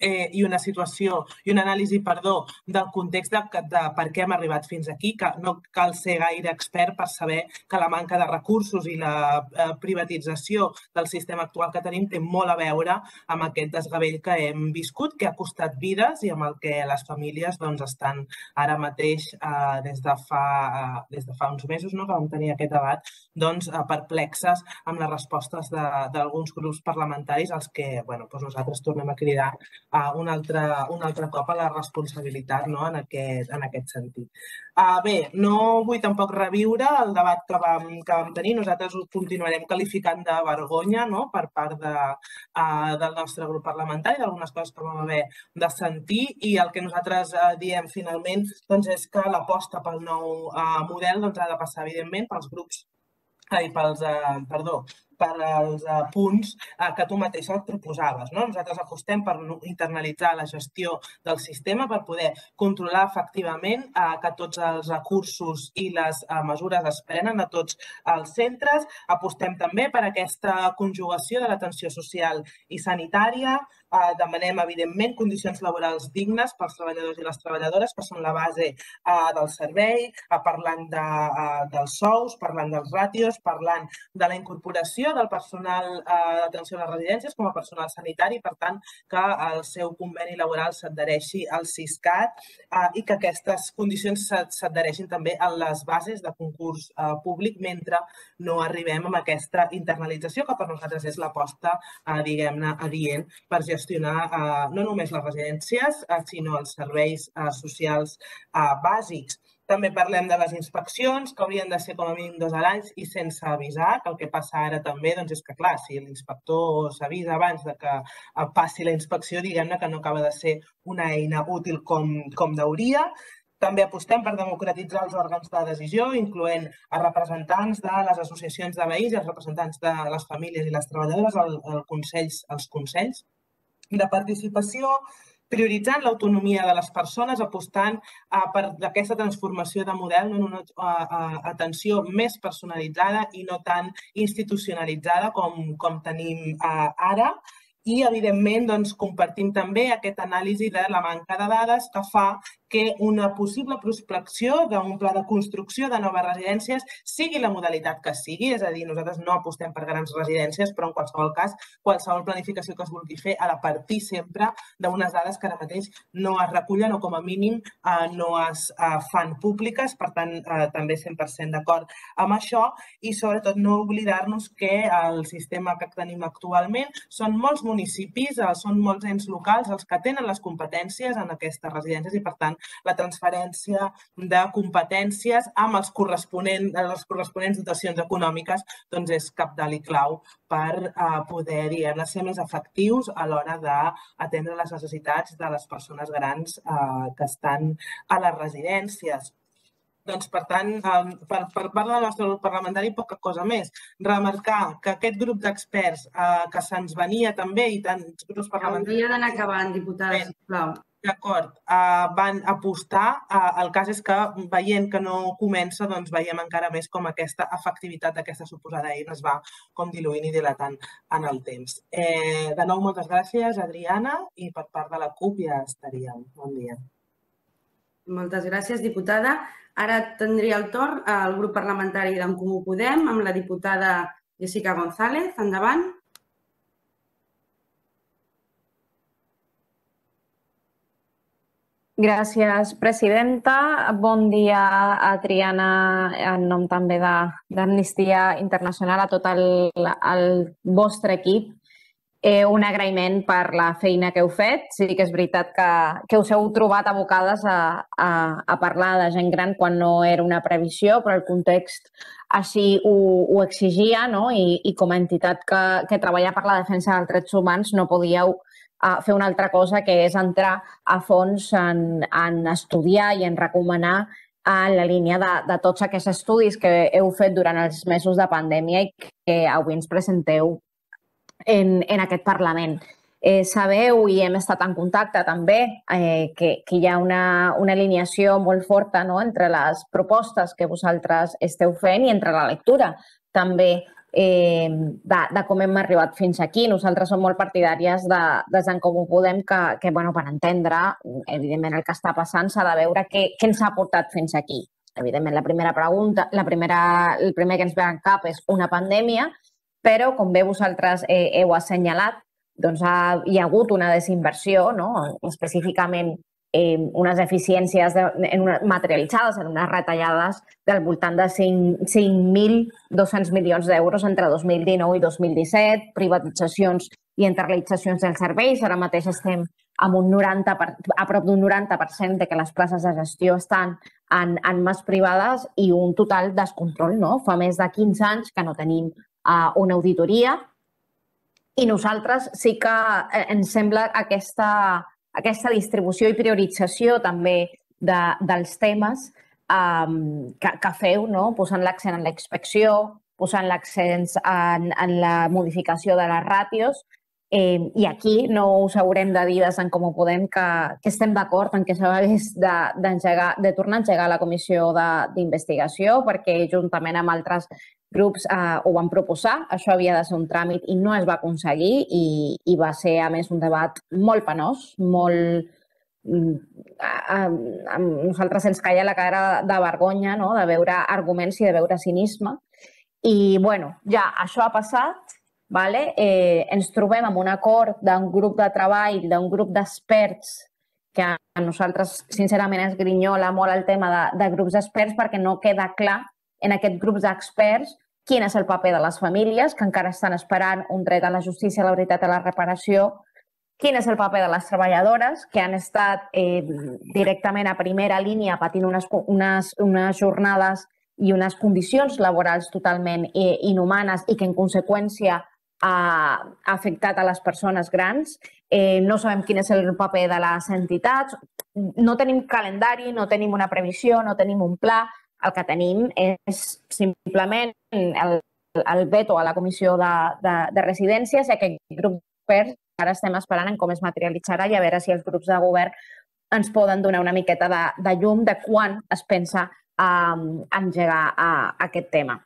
i una situació i una anàlisi, perdó, del context de per què hem arribat fins aquí, que no cal ser gaire expert per saber que la manca de recursos i la privatització del sistema actual que tenim té molt a veure amb aquest desgavell que hem viscut, que ha costat vides i amb el que les famílies estan ara mateix, des de fa uns mesos que vam tenir aquest debat, perplexes amb les respostes d'alguns grups parlamentaris als que nosaltres tornem a cridar un altre cop a la responsabilitat en aquest sentit. Bé, no vull tampoc reviure el debat que vam tenir. Nosaltres ho continuarem qualificant de vergonya per part del nostre grup parlamentari, d'algunes coses que vam haver de sentir, i el que nosaltres diem finalment és que l'aposta pel nou model ha de passar, evidentment, pels grups i pels, perdó, per als punts que tu mateixa et proposaves. Nosaltres apostem per internalitzar la gestió del sistema, per poder controlar efectivament que tots els recursos i les mesures es prenen a tots els centres. Apostem també per aquesta conjugació de l'atenció social i sanitària. Demanem, evidentment, condicions laborals dignes pels treballadors i les treballadores, que són la base del servei, parlant dels sous, parlant dels ràtios, parlant de la incorporació del personal d'atenció a les residències com a personal sanitari, per tant, que el seu conveni laboral s'adhereixi al Siscat i que aquestes condicions s'adhereixin també a les bases de concurs públic mentre no arribem a aquesta internalització, que per nosaltres és l'aposta, diguem-ne, adient per gestionar no només les residències, sinó els serveis socials bàsics. També parlem de les inspeccions, que haurien de ser com a mínim dos a l'any i sense avisar, que el que passa ara també és que, clar, si l'inspector s'avisa abans que passi la inspecció, diguem-ne que no acaba de ser una eina útil com deuria. També apostem per democratitzar els òrgans de decisió, incloent els representants de les associacions de veïns i els representants de les famílies i les treballadores als consells de participació, prioritzant l'autonomia de les persones, apostant per aquesta transformació de model en una atenció més personalitzada i no tan institucionalitzada com tenim ara. I, evidentment, compartim també aquesta anàlisi de la manca de dades que fa que una possible prospecció d'un pla de construcció de noves residències sigui la modalitat que sigui, és a dir, nosaltres no apostem per grans residències, però en qualsevol cas, qualsevol planificació que es vulgui fer ha de partir sempre d'unes dades que ara mateix no es recullen o com a mínim no es fan públiques, per tant, també cent per cent d'acord amb això i sobretot no oblidar-nos que el sistema que tenim actualment són molts municipis, són molts ens locals els que tenen les competències en aquestes residències i, per tant, la transferència de competències amb les corresponents dotacions econòmiques és cabdal i clau per poder ser més efectius a l'hora d'atendre les necessitats de les persones grans que estan a les residències. Doncs, per tant, per part del nostre grup parlamentari, poca cosa més. Remarcar que aquest grup d'experts que se'ns venia també i tants grups parlamentaris... Hauria d'anar acabant, diputada, sisplau. D'acord, van apostar. El cas és que veient que no comença, doncs veiem encara més com aquesta efectivitat d'aquesta suposada eina es va com diluint i dilatant en el temps. De nou, moltes gràcies, Adriana, i per part de la CUP ja estaríem. Bon dia. Moltes gràcies, diputada. Ara tindria el torn el grup parlamentari d'en Comú Podem amb la diputada Jessica González. Endavant. Gràcies, presidenta. Bon dia, Adriana, en nom també d'Amnistia Internacional, a tot el vostre equip. Un agraïment per la feina que heu fet. Sí que és veritat que us heu trobat abocades a parlar de gent gran quan no era una previsió, però el context així ho exigia i com a entitat que treballa per la defensa dels drets humans no podíeu fer una altra cosa que és entrar a fons en estudiar i en recomanar en la línia de tots aquests estudis que heu fet durant els mesos de pandèmia i que avui ens presenteu en aquest Parlament. Sabeu, i hem estat en contacte també, que hi ha una alineació molt forta entre les propostes que vosaltres esteu fent i entre la lectura també eh, de, de com hem arribat fins aquí. Nosaltres som molt partidàries de, des d'en Comú Podem que, que bueno, per entendre, evidentment, el que està passant s'ha de veure què, què ens ha portat fins aquí. Evidentment, la primera pregunta, la primera, el primer que ens ve al cap és una pandèmia, però, com bé vosaltres eh, heu assenyalat, doncs ha, hi ha hagut una desinversió, no? Específicament eh, unes eficiències de, en una, materialitzades en unes retallades del voltant de cinc mil dos-cents milions d'euros entre dos mil dinou i dos mil disset, privatitzacions i internalitzacions dels serveis. Ara mateix estem amb un noranta per, a prop d'un noranta per cent de que les places de gestió estan en, en mans privades i un total descontrol, no? Fa més de quinze anys que no tenim uh, una auditoria i nosaltres sí que ens sembla aquesta, aquesta distribució i priorització també de, dels temes um, que, que feu, no? Posant l'accent en la inspecció, posant l'accent en, en la modificació de les ràtios. Eh, I aquí no us haurem de dir des d'en Comú Podem que, que estem d'acord en que s'hagués de, de tornar a engegar la comissió d'investigació perquè juntament amb altres grups eh, ho van proposar. Això havia de ser un tràmit i no es va aconseguir i, i va ser, a més, un debat molt penós, molt... A, a, a nosaltres ens caia la cara de vergonya, no? De veure arguments i de veure cinisme. I, bueno, ja això ha passat. Vale? Eh, ens trobem amb un acord d'un grup de treball, d'un grup d'experts que a nosaltres, sincerament, ens grinyola molt el tema de, de grups d'experts perquè no queda clar en aquest grup d'experts quin és el paper de les famílies que encara estan esperant un dret a la justícia, a la veritat, a la reparació, quin és el paper de les treballadores que han estat eh, directament a primera línia patint unes, unes, unes jornades i unes condicions laborals totalment eh, inhumanes i que, en conseqüència, ha afectat a les persones grans. Eh, no sabem quin és el paper de les entitats. No tenim calendari, no tenim una previsió, no tenim un pla. El que tenim és simplement el, el veto a la comissió de, de, de residències i aquest grup d'experts ara estem esperant en com es materialitzarà i a veure si els grups de govern ens poden donar una miqueta de, de llum de quan es pensa um, engegar uh, aquest tema.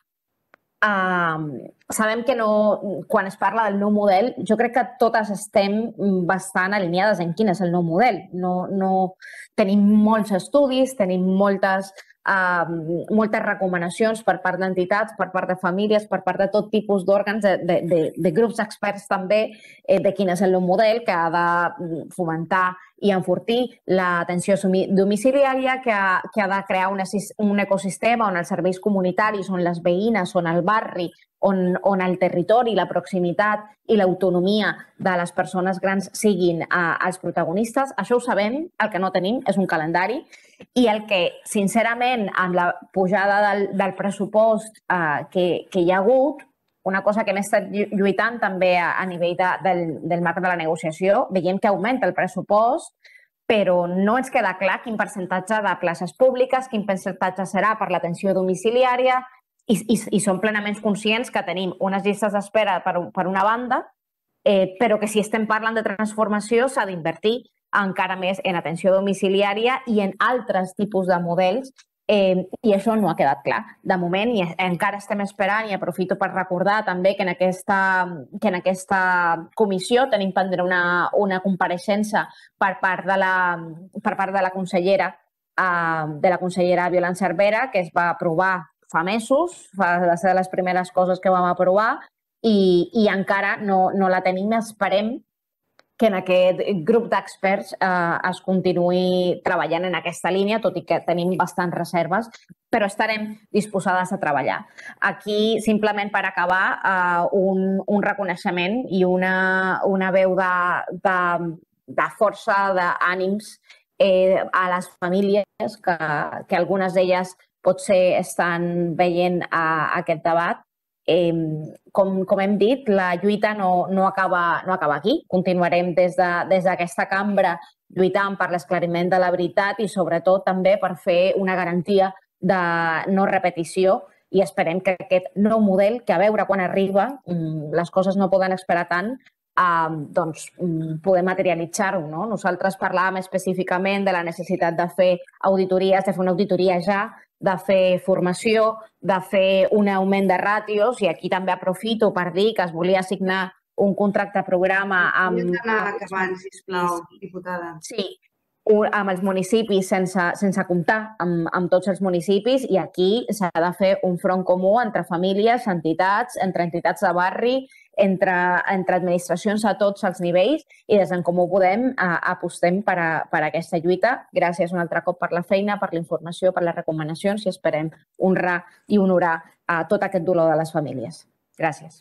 Uh, sabem que no, quan es parla del nou model, jo crec que totes estem bastant alineades en quin és el nou model. No, no, tenim molts estudis, tenim moltes, uh, moltes recomanacions per part d'entitats, per part de famílies, per part de tot tipus d'òrgans, de, de, de, de grups d'experts també, eh, de quin és el nou model que ha de fomentar i enfortir l'atenció domiciliària, que ha, que ha de crear una, un ecosistema on els serveis comunitaris, on les veïnes, on el barri, on, on el territori, la proximitat i l'autonomia de les persones grans siguin uh, els protagonistes. Això ho sabem, el que no tenim és un calendari i el que, sincerament, amb la pujada del, del pressupost uh, que, que hi ha hagut, una cosa que hem estat lluitant també a, a nivell de, del, del marc de la negociació, veiem que augmenta el pressupost, però no ens queda clar quin percentatge de places públiques, quin percentatge serà per l'atenció domiciliària i, i, i som plenament conscients que tenim unes llistes d'espera per, per una banda, eh, però que si estem parlant de transformació s'ha d'invertir encara més en atenció domiciliària i en altres tipus de models. Eh, I això no ha quedat clar. De moment, i encara estem esperant, i aprofito per recordar també que en aquesta, que en aquesta comissió tenim pendent una, una compareixença per part de la, per part de la consellera, eh, de la consellera Violant Cervera, que es va aprovar fa mesos, va ser de les primeres coses que vam aprovar, i, i encara no, no la tenim. Esperem que en aquest grup d'experts eh, es continuï treballant en aquesta línia, tot i que tenim bastants reserves, però estarem disposades a treballar. Aquí, simplement per acabar, eh, un, un reconeixement i una, una veu de, de, de força, d'ànims eh, a les famílies, que, que algunes d'elles potser estan veient eh, aquest debat. Eh, com, com hem dit, la lluita no, no, acaba, no acaba aquí. Continuarem des de, des d'aquesta cambra lluitant per l'esclariment de la veritat i sobretot també per fer una garantia de no repetició i esperem que aquest nou model, que a veure quan arriba, les coses no poden esperar tant, eh, doncs poder materialitzar-ho. No? Nosaltres parlàvem específicament de la necessitat de fer auditories, de fer una auditoria ja de fer formació, de fer un augment de ràtios, i aquí també aprofito per dir que es volia signar un contracte programa amb... Hem d'anar acabant, sisplau, diputada. Sí, amb els municipis sense, sense comptar amb, amb tots els municipis, i aquí s'ha de fer un front comú entre famílies, entitats, entre entitats de barri, entre, entre administracions a tots els nivells, i des d'en Comú Podem a, apostem per, a, per a aquesta lluita. Gràcies un altre cop per la feina, per la informació, per les recomanacions, i esperem honrar i honorar a tot aquest dolor de les famílies. Gràcies.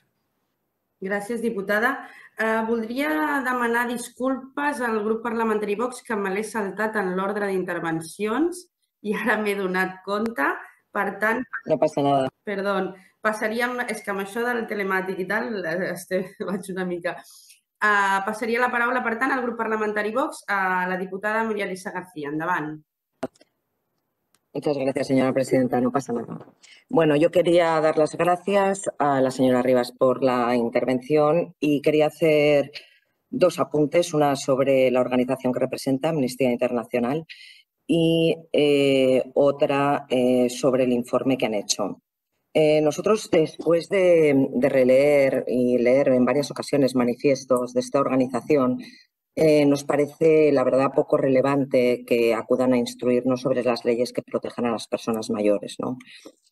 Gràcies, diputada. Eh, voldria demanar disculpes al grup parlamentari Vox, que me l'he saltat en l'ordre d'intervencions i ara m'he donat compte. Per tant... No passa nada. Perdó, passaríem... És que amb això del telemàtic i tal vaig una mica... Passaria la paraula, per tant, al grup parlamentari Vox, a la diputada María Elisa García. Endavant. Muchas gracias, señora presidenta. No pasa nada. Bueno, yo quería dar las gracias a la señora Rivas por la intervención y quería hacer dos apuntes, una sobre la organización que representa, Amnistía Internacional, y eh, otra eh, sobre el informe que han hecho. Eh, nosotros, después de, de releer y leer en varias ocasiones manifiestos de esta organización, eh, nos parece, la verdad, poco relevante que acudan a instruirnos sobre las leyes que protejan a las personas mayores, ¿no?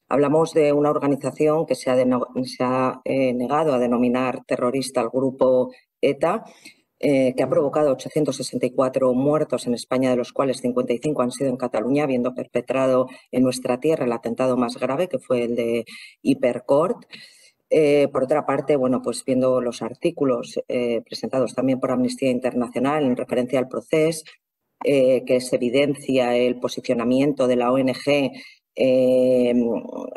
Hablamos de una organización que se ha, de, se ha eh, negado a denominar terrorista al grupo ETA, Eh, que ha provocado ochocientos sesenta y cuatro muertos en España, de los cuales cincuenta y cinco han sido en Cataluña, habiendo perpetrado en nuestra tierra el atentado más grave, que fue el de Hipercort. Eh, por otra parte, bueno, pues viendo los artículos eh, presentados también por Amnistía Internacional en referencia al proceso, eh, que se evidencia el posicionamiento de la O N G Eh,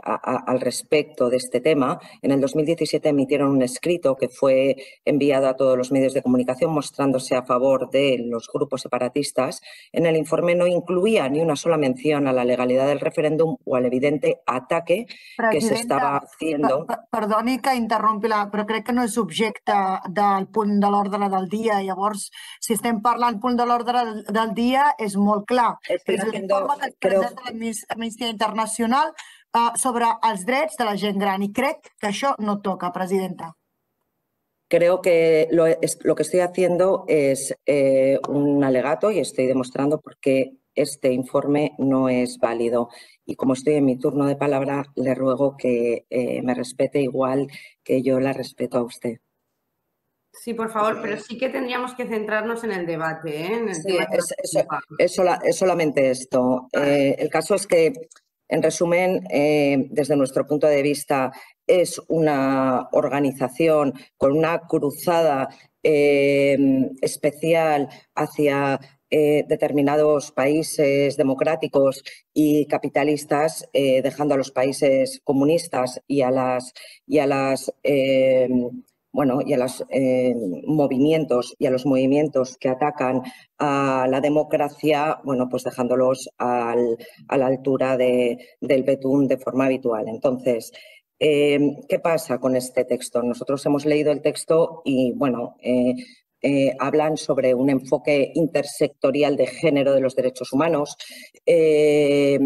a, a, al respecto de este tema. En el dos mil diecisiete emitieron un escrito que fue enviado a todos los medios de comunicación mostrándose a favor de los grupos separatistas. En el informe no incluía ni una sola mención a la legalidad del referéndum o al evidente ataque Presidenta, que se estava haciendo. Per, perdoni que interrompi, la, però crec que no és objecte del punt de l'ordre del dia. Llavors, si estem parlant punt de l'ordre del dia, és molt clar. Estoy és haciendo, l'informe que creo... presenta l'Amnistia Internacional uh, sobre els drets de la gent gran, i crec que això no toca, presidenta. Creo que lo, es, lo que estoy haciendo es eh, un alegato y estoy demostrando por qué este informe no es válido. Y como estoy en mi turno de palabra, le ruego que eh, me respete igual que yo la respeto a usted. Sí, por favor, pero sí que tendríamos que centrarnos en el debate. ¿eh? En el sí, tema es, es, es, sola, es solamente esto. Eh, el caso es que, en resumen, eh, desde nuestro punto de vista, es una organización con una cruzada eh, especial hacia eh, determinados países democráticos y capitalistas, eh, dejando a los países comunistas y a las... Y a las eh, bueno, y a los eh, movimientos y a los movimientos que atacan a la democracia, bueno, pues dejándolos al, a la altura de, del betún de forma habitual. Entonces, eh, ¿qué pasa con este texto? Nosotros hemos leído el texto y, bueno, eh, eh, hablan sobre un enfoque intersectorial de género de los derechos humanos. Eh,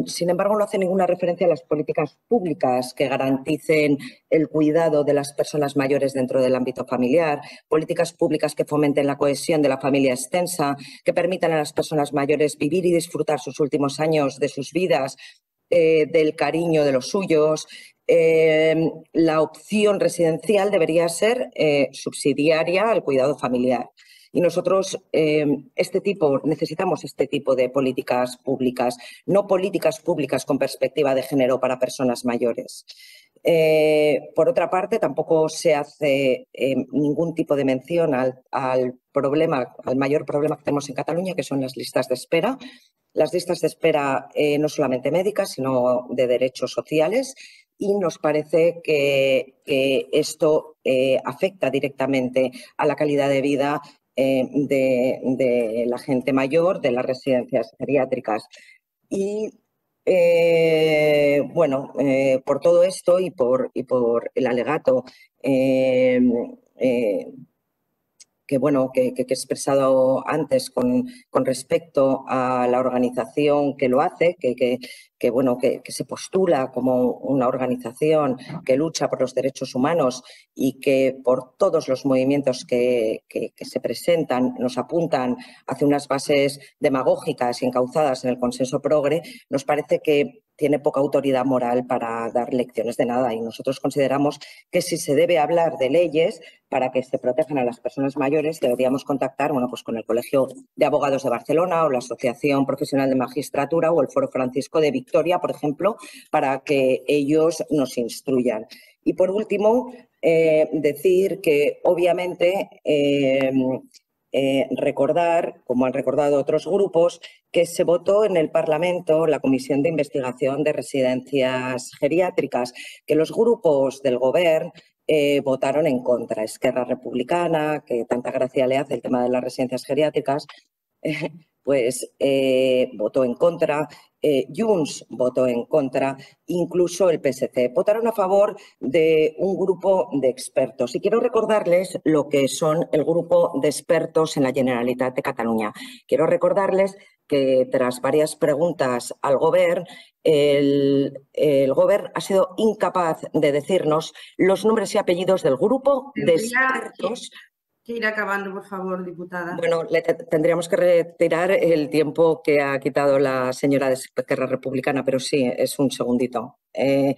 Sin embargo, no hace ninguna referencia a las políticas públicas que garanticen el cuidado de las personas mayores dentro del ámbito familiar, políticas públicas que fomenten la cohesión de la familia extensa, que permitan a las personas mayores vivir y disfrutar sus últimos años de sus vidas, eh, del cariño de los suyos. Eh, la opción residencial debería ser eh, subsidiaria al cuidado familiar. Y nosotros eh, este tipo, necesitamos este tipo de políticas públicas, no políticas públicas con perspectiva de género para personas mayores. Eh, por otra parte, tampoco se hace eh, ningún tipo de mención al, al problema, al mayor problema que tenemos en Cataluña, que son las listas de espera. Las listas de espera eh, no solamente médicas, sino de derechos sociales. Y nos parece que, que esto eh, afecta directamente a la calidad de vida Eh, de, de la gente mayor, de las residencias geriátricas. Y eh, bueno, eh, por todo esto y por, y por el alegato eh, eh, que, bueno, que, que he expresado antes con, con respecto a la organización que lo hace, que, que, que, bueno, que, que se postula como una organización que lucha por los derechos humanos y que por todos los movimientos que, que, que se presentan nos apuntan hacia unas bases demagógicas y encauzadas en el consenso progre, nos parece que tiene poca autoridad moral para dar lecciones de nada y nosotros consideramos que si se debe hablar de leyes para que se protejan a las personas mayores deberíamos contactar bueno, pues con el Colegio de Abogados de Barcelona o la Asociación Profesional de Magistratura o el Foro Francisco de Victoria, por ejemplo, para que ellos nos instruyan. Y por último, eh, decir que obviamente eh, Eh, recordar, como han recordado otros grupos, que se votó en el Parlamento la Comisión de Investigación de Residencias Geriátricas, que los grupos del Gobierno eh, votaron en contra. Esquerra Republicana, que tanta gracia le hace el tema de las residencias geriátricas, eh, pues eh, votó en contra, eh, Junts votó en contra, incluso el P S C. Votaron a favor de un grupo de expertos. Y quiero recordarles lo que son el grupo de expertos en la Generalitat de Cataluña. Quiero recordarles que tras varias preguntas al Gobierno, el, el Gobierno ha sido incapaz de decirnos los nombres y apellidos del grupo de expertos. Que ir acabando, por favor, diputada. Bueno, le tendríamos que retirar el tiempo que ha quitado la señora de Esquerra Republicana, pero sí, es un segundito. Eh,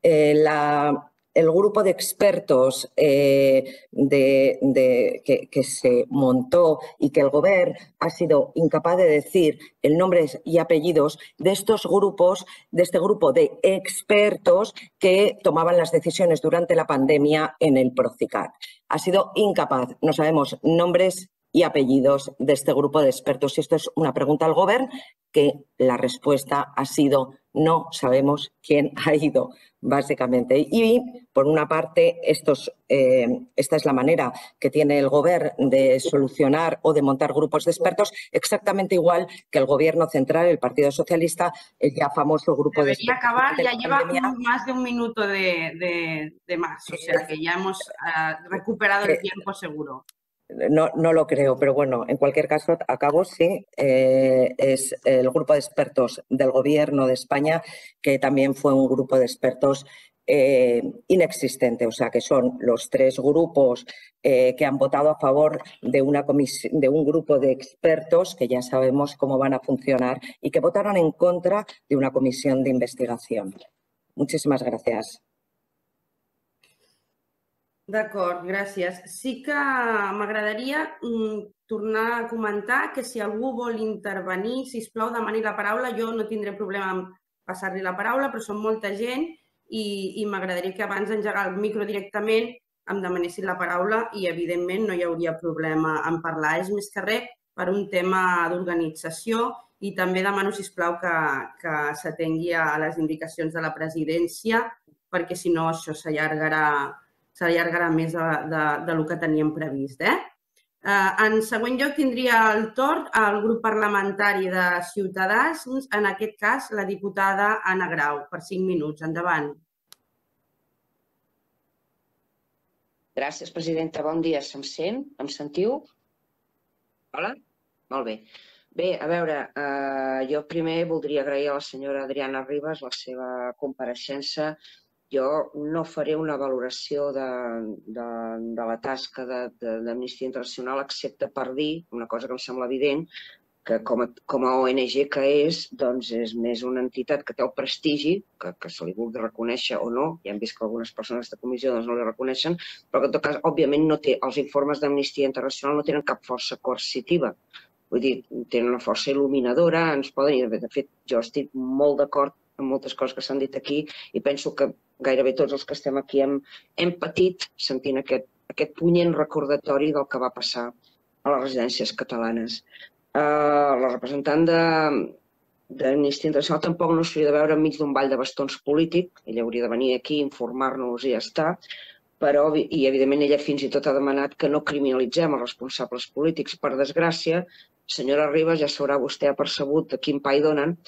eh, la, el grupo de expertos eh, de, de, que, que se montó y que el Gobierno ha sido incapaz de decir el nombre y apellidos de estos grupos, de este grupo de expertos que tomaban las decisiones durante la pandemia en el Procicat. Ha sido incapaz, no sabemos nombres y apellidos de este grupo de expertos. Y esto es una pregunta al Gobierno que la respuesta ha sido no sabemos quién ha ido, básicamente. Y, por una parte, estos, eh, esta es la manera que tiene el Gobierno de solucionar o de montar grupos de expertos, exactamente igual que el Gobierno central, el Partido Socialista, el ya famoso grupo Debería de expertos. acabar, De ya lleva pandemia. más de un minuto de, de, de más, o sea que ya hemos uh, recuperado el tiempo seguro. No, no lo creo, pero bueno, en cualquier caso, acabo, sí, eh, es el grupo de expertos del Gobierno de España, que también fue un grupo de expertos eh, inexistente, o sea, que son los tres grupos eh, que han votado a favor de, una de un grupo de expertos que ya sabemos cómo van a funcionar y que votaron en contra de una comisión de investigación. Muchísimas gracias. D'acord, gràcies. Sí que m'agradaria mm, tornar a comentar que si algú vol intervenir, sisplau, demani la paraula. Jo no tindré problema en passar-li la paraula, però som molta gent i, i m'agradaria que abans d'engegar el micro directament em demanessin la paraula i, evidentment, no hi hauria problema en parlar. És més que res per un tema d'organització i també demano, sisplau, que, que s'atengui a les indicacions de la presidència perquè, si no, això s'allargarà s'allargarà més de, de, de lo que teníem previst. Eh? Uh, en següent lloc tindria el torn al grup parlamentari de Ciutadans, en aquest cas la diputada Anna Grau, per cinc minuts. Endavant. Gràcies, presidenta. Bon dia. Se'm sent? Em sentiu? Hola? Molt bé. Bé, a veure, eh, jo primer voldria agrair a la senyora Adriana Ribas la seva compareixença. Jo no faré una valoració de, de, de la tasca d'Amnistia Internacional, excepte per dir una cosa que em sembla evident, que com a, com a O N G que és, doncs és més una entitat que té el prestigi, que, que se li vulgui reconèixer o no, ja hem vist que algunes persones de comissió doncs, no li reconeixen, però que en tot cas, òbviament, no té, els informes d'Amnistia Internacional no tenen cap força coercitiva. Vull dir, tenen una força il·luminadora, ens poden... I, de fet, jo estic molt d'acord amb moltes coses que s'han dit aquí i penso que gairebé tots els que estem aquí hem, hem patit sentint aquest, aquest punyent recordatori del que va passar a les residències catalanes. Uh, la representant d'Amnistia Internacional tampoc no s'hauria de veure enmig d'un ball de bastons polític, ella hauria de venir aquí, informar-nos i ja està, però, i evidentment ella fins i tot ha demanat que no criminalitzem els responsables polítics. Per desgràcia, senyora Ribas, ja s'haurà vostè apercebut de quin pa hi donen,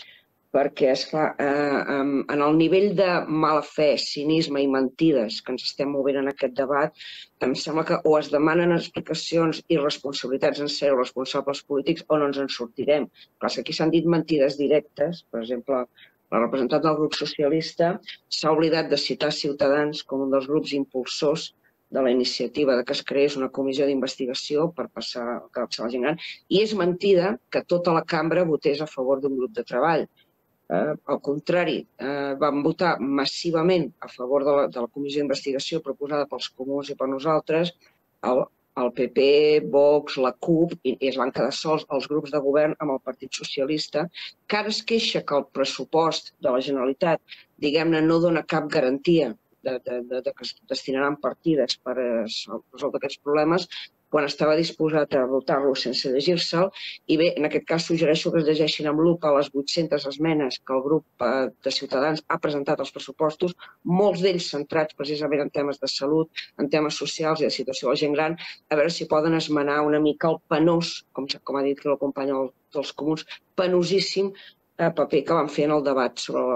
perquè, esclar, en el nivell de mala fe, cinisme i mentides que ens estem movent en aquest debat, em sembla que o es demanen explicacions i responsabilitats en ser responsables polítics o no ens en sortirem. Clar, aquí s'han dit mentides directes, per exemple, la representant del grup socialista s'ha oblidat de citar Ciutadans com un dels grups impulsors de la iniciativa que es creés una comissió d'investigació per passar la gent gran, i és mentida que tota la cambra votés a favor d'un grup de treball. Al contrari, vam votar massivament a favor de la comissió d'investigació proposada pels comuns i per nosaltres, el P P, Vox, la CUP, i es van quedar sols els grups de govern amb el Partit Socialista, que ara es queixa que el pressupost de la Generalitat, diguem-ne, no dona cap garantia de que es destinaran partides per resoldre aquests problemes, quan estava disposat a votar-lo sense llegir-se'l. I bé, en aquest cas suggereixo que es llegeixin amb lupa les vuit-centes esmenes que el grup de Ciutadans ha presentat als pressupostos, molts d'ells centrats precisament en temes de salut, en temes socials i de situació de la gent gran, a veure si poden esmenar una mica el penós, com ha dit la companya dels comuns, penosíssim paper que van fer en el debat sobre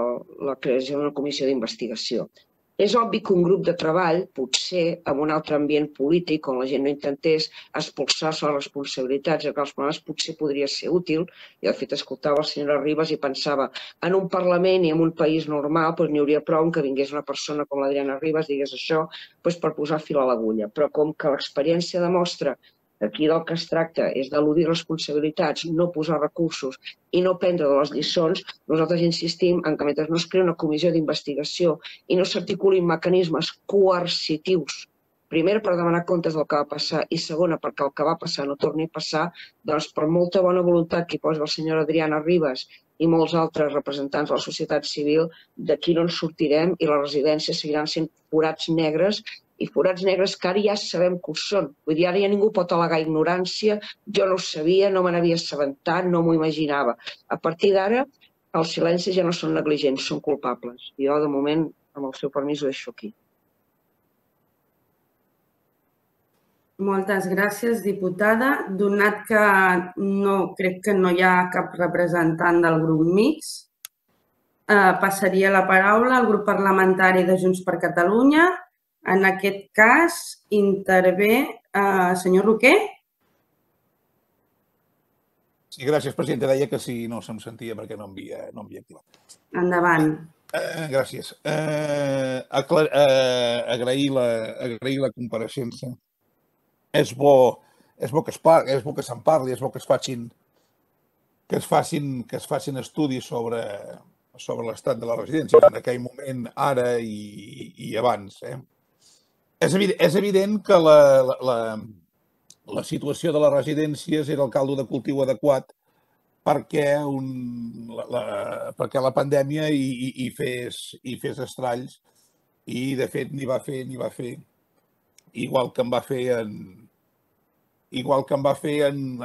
la creació d'una comissió d'investigació. És obvi que un grup de treball, potser en un altre ambient polític, on la gent no intentés expulsar-se les responsabilitats i els problemes, potser podria ser útil. I, de fet, escoltava la senyora Ribas i pensava, en un Parlament i en un país normal n'hi hauria prou que vingués una persona com l'Adriana Ribas, digués això, per posar fil a l'agulla. Però com que l'experiència demostra aquí del que es tracta és d'eludir responsabilitats, no posar recursos i no prendre de les lliçons, nosaltres insistim en que mentre no es crea una comissió d'investigació i no s'articulin mecanismes coercitius, primer per demanar comptes del que va passar i segona perquè el que va passar no torni a passar, doncs per molta bona voluntat que hi posi la senyora Adriana Ribas i molts altres representants de la societat civil, d'aquí no ens sortirem i les residències seguiran sent forats negres i forats negres que ara ja sabem que ho són. Vull dir, ara ja ningú pot al·legar ignorància, jo no ho sabia, no me n'havia assabentat, no m'ho imaginava. A partir d'ara, els silencis ja no són negligents, són culpables. Jo, de moment, amb el seu permís, ho deixo aquí. Moltes gràcies, diputada. Donat que no crec que no hi ha cap representant del grup mixt, passaria la paraula al grup parlamentari de Junts per Catalunya. En aquest cas, intervé el senyor Roquer. Sí, gràcies, presidenta. Deia que si no se'm sentia perquè no havia activat. Endavant. Gràcies. Agrair la compareixença. És bo que se'n parli, és bo que es facin estudis sobre l'estat de les residències en aquell moment, ara i abans. És evident que la situació de les residències era el caldo de cultiu adequat perquè la pandèmia hi fes estralls i, de fet, n'hi va fer, n'hi va fer, igual que en va fer en igual que en va fer en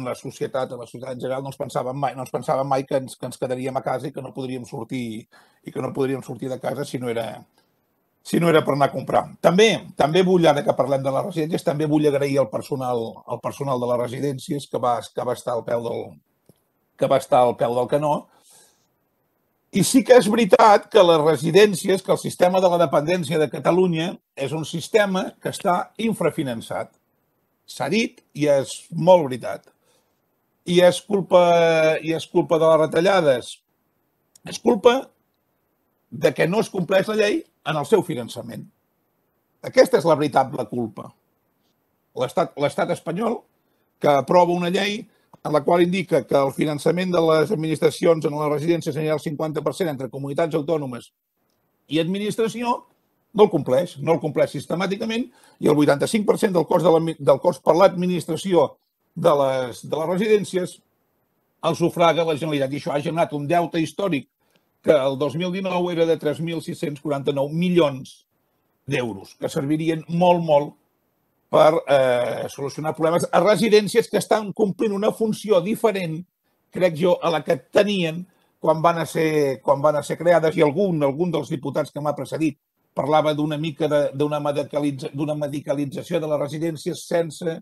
la societat, en la societat en general, no ens pensàvem mai, no ens pensàvem mai que ens quedaríem a casa i que no podríem sortir i que no podríem sortir de casa si no era si no era per anar a comprar. També, també vull, ara que parlem de les residències, també vull agrair al personal, al personal de les residències que va, que va estar al peu del, que va estar al peu del canó. I sí que és veritat que les residències, que el sistema de la dependència de Catalunya és un sistema que està infrafinançat. S'ha dit i és molt veritat. I és culpa, i és culpa de les retallades. És culpa de que no es compleix la llei en el seu finançament. Aquesta és la veritable culpa. L'estat espanyol, que aprova una llei en la qual indica que el finançament de les administracions en les residències anirà al cinquanta per cent entre comunitats autònomes i administració, no el compleix, no el compleix sistemàticament i el vuitanta-cinc per cent del cost per l'administració de les residències el sufraga la Generalitat. I això ha generat un deute històric que el dos mil dinou era de tres mil sis-cents quaranta-nou milions d'euros, que servirien molt, molt per solucionar problemes a residències que estan complint una funció diferent, crec jo, a la que tenien quan van a ser creades, i algun dels diputats que m'ha precedit parlava d'una mica d'una medicalització de les residències sense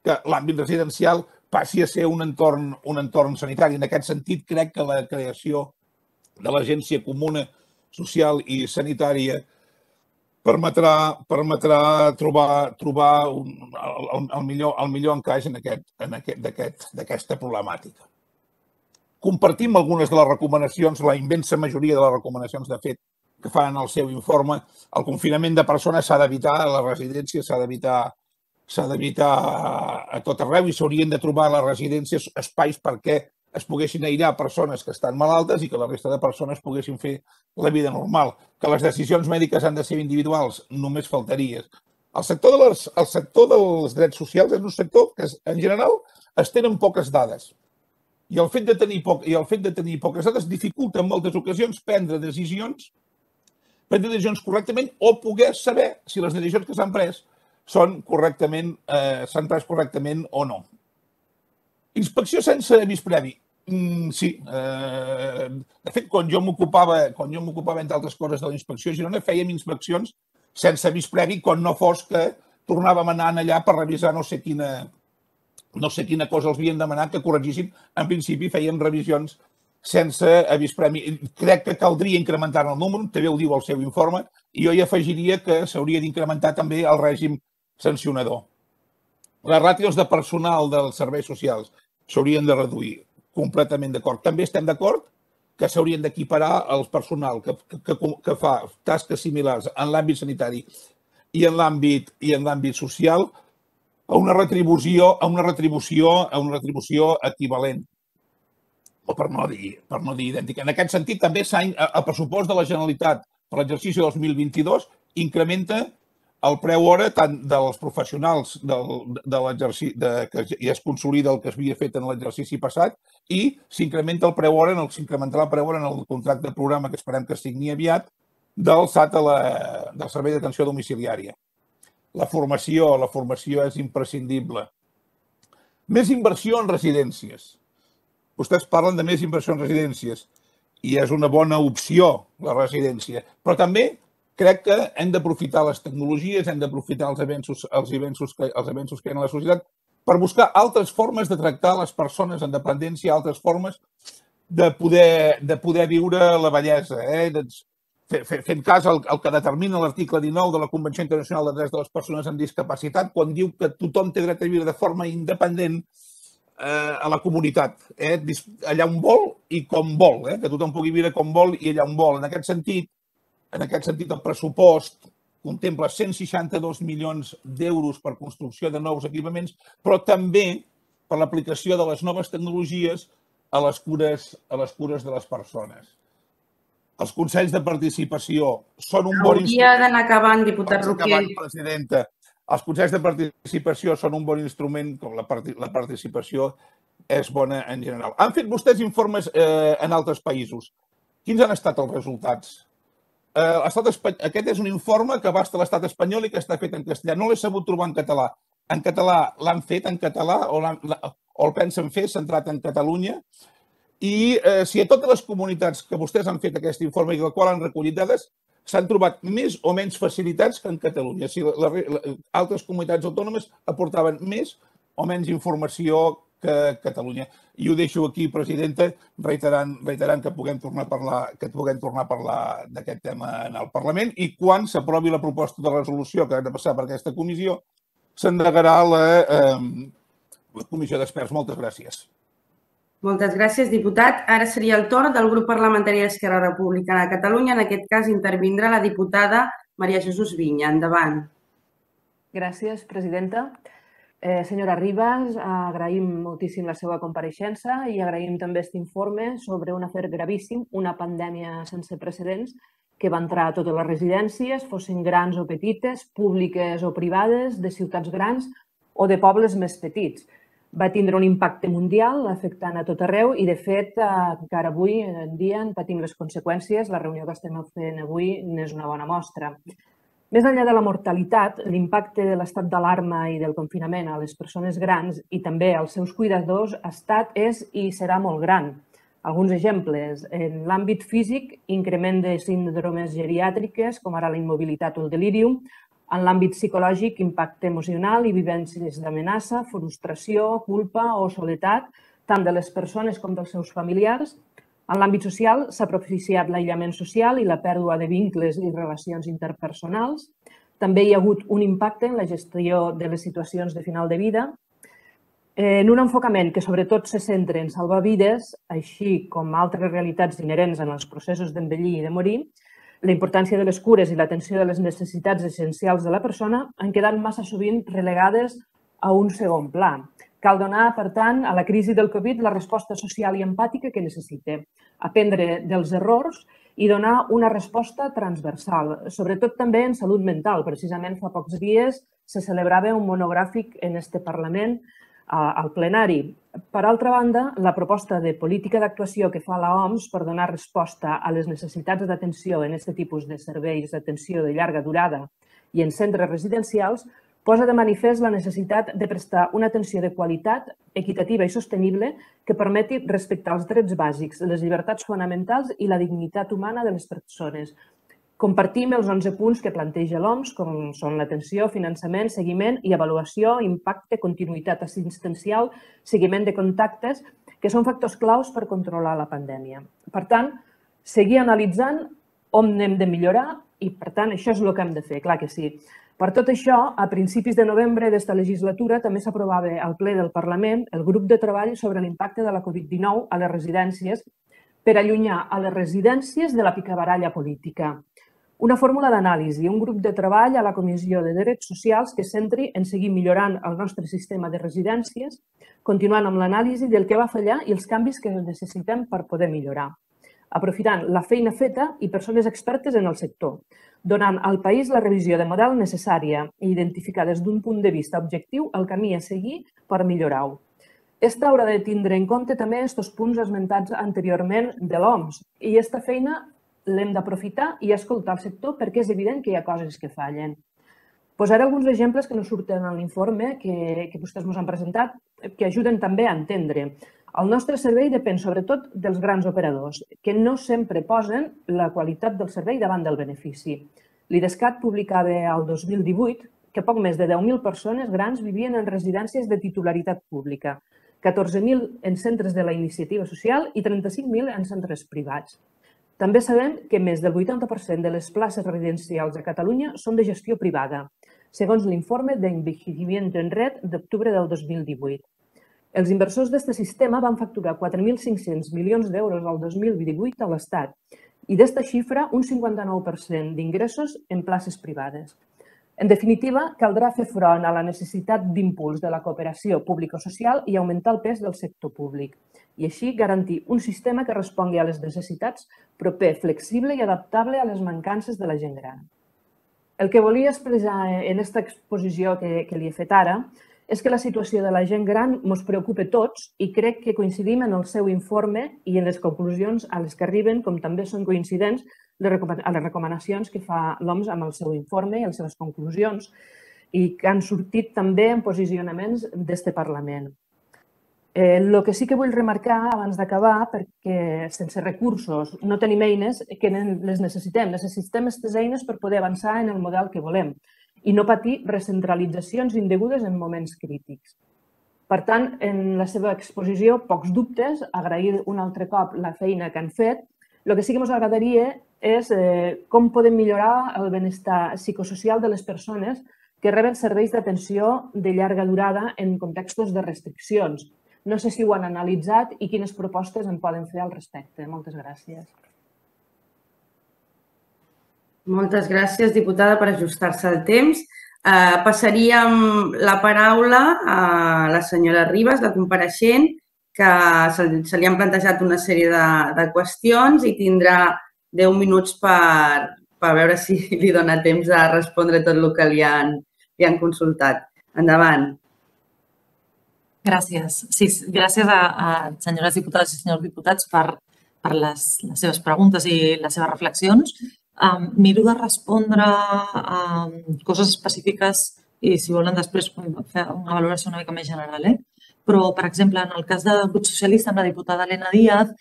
que l'àmbit residencial passi a ser un entorn sanitari. En aquest sentit, crec que la creació de l'Agència Comuna Social i Sanitària permetrà, permetrà trobar, trobar un, el, el, millor, el millor encaix en aquest, en aquest, d'aquesta problemàtica. Compartim algunes de les recomanacions, la immensa majoria de les recomanacions, de fet, que fan en el seu informe. El confinament de persones s'ha d'evitar, a les residències s'ha d'evitar s'ha d'evitar a tot arreu i s'haurien de trobar a les residències espais perquè es poguessin aïllar persones que estan malaltes i que la resta de persones poguessin fer la vida normal. Que les decisions mèdiques han de ser individuals, només faltaria. El sector, de les, el sector dels drets socials és un sector que, en general, es tenen poques dades. I el fet de tenir, poc, i el fet de tenir poques dades dificulta en moltes ocasions prendre decisions, prendre decisions correctament o poder saber si les decisions que s'han pres són correctament, eh, s'han pres correctament o no. Inspecció sense avís previ. Mm, sí. Eh, de fet, quan jo m'ocupava, quan jo m'ocupava entre altres coses de la inspecció a Girona, fèiem inspeccions sense avís previ quan no fos que tornàvem anant allà per revisar no sé quina, no sé quina cosa els havien demanat que corregissin. En principi fèiem revisions sense avís previ. Crec que caldria incrementar el número, també ho diu el seu informe, i jo hi afegiria que s'hauria d'incrementar també el règim sancionador. Les ràtios de personal dels serveis socials s'haurien de reduir, completament d'acord. També estem d'acord que s'haurien d'equiparar el personal que, que, que fa tasques similars en l'àmbit sanitari i en l'àmbit i en l'àmbit social a una retribució, a una retribució, a una retribució equivalent. O per no dir, per no dir idèntica. En aquest sentit, també el pressupost de la Generalitat per l'exercici dos mil vint-i-dos incrementa el preu hora tant dels professionals del, de l'exercici, que ja es consolida el que s'havia fet en l'exercici passat, i s'incrementa el preu hora, s'incrementarà el preu hora en el contracte de programa que esperem que es signi aviat del S A T, del Servei d'Atenció Domiciliària. La formació, la formació és imprescindible. Més inversió en residències. Vostès parlen de més inversió en residències i és una bona opció la residència, però també crec que hem d'aprofitar les tecnologies, hem d'aprofitar els avenços, els avenços que, els avenços que hi ha a la societat per buscar altres formes de tractar les persones en dependència, altres formes de poder, de poder viure la bellesa, eh? Fent cas al, al que determina l'article dinou de la Convenció Internacional de Drets de les Persones amb Discapacitat, quan diu que tothom té dret a viure de forma independent eh, a la comunitat, eh? allà on vol i com vol, eh? Que tothom pugui viure com vol i allà on vol. En aquest sentit, En aquest sentit, el pressupost contempla cent seixanta-dos milions d'euros per construcció de nous equipaments, però també per l'aplicació de les noves tecnologies a les cures, a les cures de les persones. Els consells de participació són un bon instrument... Hauria d'anar acabant, diputat Roquer. Presidenta. Els consells de participació són un bon instrument, com la, part la participació és bona en general. Han fet vostès informes eh, en altres països. Quins han estat els resultats? Aquest és un informe que abasta l'estat espanyol i que està fet en castellà. No l'he sabut trobar en català. En català l'han fet en català o, o el pensen fer centrat en Catalunya. I eh, si a totes les comunitats que vostès han fet aquest informe i del qual han recollit dades s'han trobat més o menys facilitats que en Catalunya. Si la, la, altres comunitats autònomes aportaven més o menys informació que Catalunya. I ho deixo aquí, presidenta, reiterant, reiterant que puguem tornar a parlar, que puguem tornar a parlar d'aquest tema en el Parlament i quan s'aprovi la proposta de resolució que ha de passar per aquesta comissió, s'endegarà la, eh, la comissió d'experts. Moltes gràcies. Moltes gràcies, diputat. Ara seria el torn del grup parlamentari d'Esquerra Republicana de Catalunya. En aquest cas intervindrà la diputada Maria Jesús Viña. Endavant. Gràcies, presidenta. Eh, senyora Ribas, agraïm moltíssim la seva compareixença i agraïm també aquest informe sobre un afer gravíssim, una pandèmia sense precedents que va entrar a totes les residències, fossin grans o petites, públiques o privades, de ciutats grans o de pobles més petits. Va tindre un impacte mundial afectant a tot arreu i, de fet, encara avui en dia en patim les conseqüències. La reunió que estem fent avui n'és una bona mostra. Més enllà de la mortalitat, l'impacte de l'estat d'alarma i del confinament a les persones grans i també als seus cuidadors ha estat, és i serà molt gran. Alguns exemples. En l'àmbit físic, increment de síndromes geriàtriques, com ara la immobilitat o el delírium. En l'àmbit psicològic, impacte emocional i vivències d'amenaça, frustració, culpa o soledat, tant de les persones com dels seus familiars. En l'àmbit social s'ha propiciat l'aïllament social i la pèrdua de vincles i relacions interpersonals. També hi ha hagut un impacte en la gestió de les situacions de final de vida. En un enfocament que sobretot se centra en salvar vides, així com altres realitats inherents en els processos d'envellir i de morir, la importància de les cures i l'atenció de les necessitats essencials de la persona han quedat massa sovint relegades a un segon pla. Cal donar, per tant, a la crisi del Covid la resposta social i empàtica que necessita, aprendre dels errors i donar una resposta transversal, sobretot també en salut mental. Precisament fa pocs dies se celebrava un monogràfic en este Parlament al plenari. Per altra banda, la proposta de política d'actuació que fa la O M S per donar resposta a les necessitats d'atenció en aquest tipus de serveis d'atenció de llarga durada i en centres residencials posa de manifest la necessitat de prestar una atenció de qualitat, equitativa i sostenible que permeti respectar els drets bàsics, les llibertats fonamentals i la dignitat humana de les persones. Compartim els onze punts que planteja l'O M S, com són l'atenció, finançament, seguiment i avaluació, impacte, continuïtat assistencial, seguiment de contactes, que són factors claus per controlar la pandèmia. Per tant, seguir analitzant on hem de millorar i, per tant, això és el que hem de fer, clar que sí. Per tot això, a principis de novembre d'esta legislatura també s'aprovava al ple del Parlament el grup de treball sobre l'impacte de la Covid dinou a les residències per allunyar a les residències de la picabaralla política. Una fórmula d'anàlisi, un grup de treball a la Comissió de Drets Socials que es centri en seguir millorant el nostre sistema de residències, continuant amb l'anàlisi del que va fallar i els canvis que necessitem per poder millorar, aprofitant la feina feta i persones expertes en el sector, donant al país la revisió de model necessària i identificar des d'un punt de vista objectiu el camí a seguir per millorar-ho. Esta haurà de tindre en compte també aquests punts esmentats anteriorment de l'O M S i aquesta feina l'hem d'aprofitar i escoltar el sector perquè és evident que hi ha coses que fallen. Posaré alguns exemples que no surten en l'informe que, que vostès ens han presentat que ajuden també a entendre. El nostre servei depèn sobretot dels grans operadors, que no sempre posen la qualitat del servei davant del benefici. L'Idescat publicava el dos mil divuit que poc més de deu mil persones grans vivien en residències de titularitat pública, catorze mil en centres de la iniciativa social i trenta-cinc mil en centres privats. També sabem que més del vuitanta per cent de les places residencials a Catalunya són de gestió privada, segons l'informe d'Envejecimiento en Red d'octubre del dos mil divuit. Els inversors d'aquest sistema van facturar quatre mil cinc-cents milions d'euros el dos mil divuit a l'Estat i d'esta xifra un cinquanta-nou per cent d'ingressos en places privades. En definitiva, caldrà fer front a la necessitat d'impuls de la cooperació público-social i augmentar el pes del sector públic i així garantir un sistema que respongui a les necessitats proper, flexible i adaptable a les mancances de la gent gran. El que volia expressar en aquesta exposició que, que li he fet ara és que la situació de la gent gran ens preocupa a tots i crec que coincidim en el seu informe i en les conclusions a les que arriben, com també són coincidents a les recomanacions que fa l'O M S amb el seu informe i les seves conclusions i que han sortit també en posicionaments d'este Parlament. El que sí que vull remarcar abans d'acabar, perquè sense recursos no tenim eines que les necessitem. Necessitem aquestes eines per poder avançar en el model que volem i no patir recentralitzacions indegudes en moments crítics. Per tant, en la seva exposició, pocs dubtes, agrair un altre cop la feina que han fet. El que sí que ens agradaria és com podem millorar el benestar psicosocial de les persones que reben serveis d'atenció de llarga durada en contextos de restriccions. No sé si ho han analitzat i quines propostes en poden fer al respecte. Moltes gràcies. Moltes gràcies, diputada, per ajustar-se al temps. Passaríem la paraula a la senyora Ribas, la compareixent, que se li han plantejat una sèrie de qüestions i tindrà deu minuts per veure si li dona temps de respondre tot el que li han consultat. Endavant. Gràcies. Sí, gràcies a senyores diputades i senyors diputats per les seves preguntes i les seves reflexions. Miro de respondre a coses específiques i, si volen, després fer una valoració una mica més general. Però, per exemple, en el cas del grup socialista amb la diputada Elena Díaz,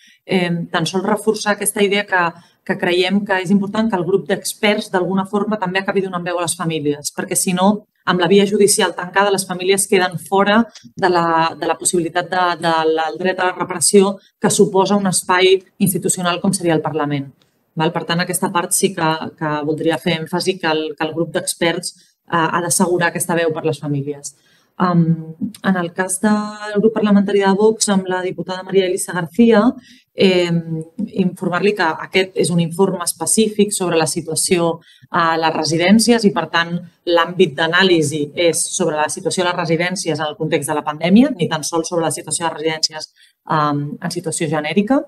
tan sols reforçar aquesta idea que creiem que és important que el grup d'experts d'alguna forma també acabi donant veu a les famílies, perquè si no amb la via judicial tancada, les famílies queden fora de la, de la possibilitat de, de, del dret a la reparació que suposa un espai institucional com seria el Parlament. Val? Per tant, aquesta part sí que, que voldria fer èmfasi que el, que el grup d'experts eh, ha d'assegurar aquesta veu per les famílies. Um, en el cas del grup parlamentari de Vox, amb la diputada Maria Elisa García, eh, informar-li que aquest és un informe específic sobre la situació a les residències i, per tant, l'àmbit d'anàlisi és sobre la situació a les residències en el context de la pandèmia, ni tan sols sobre la situació de les residències um, en situació genèrica.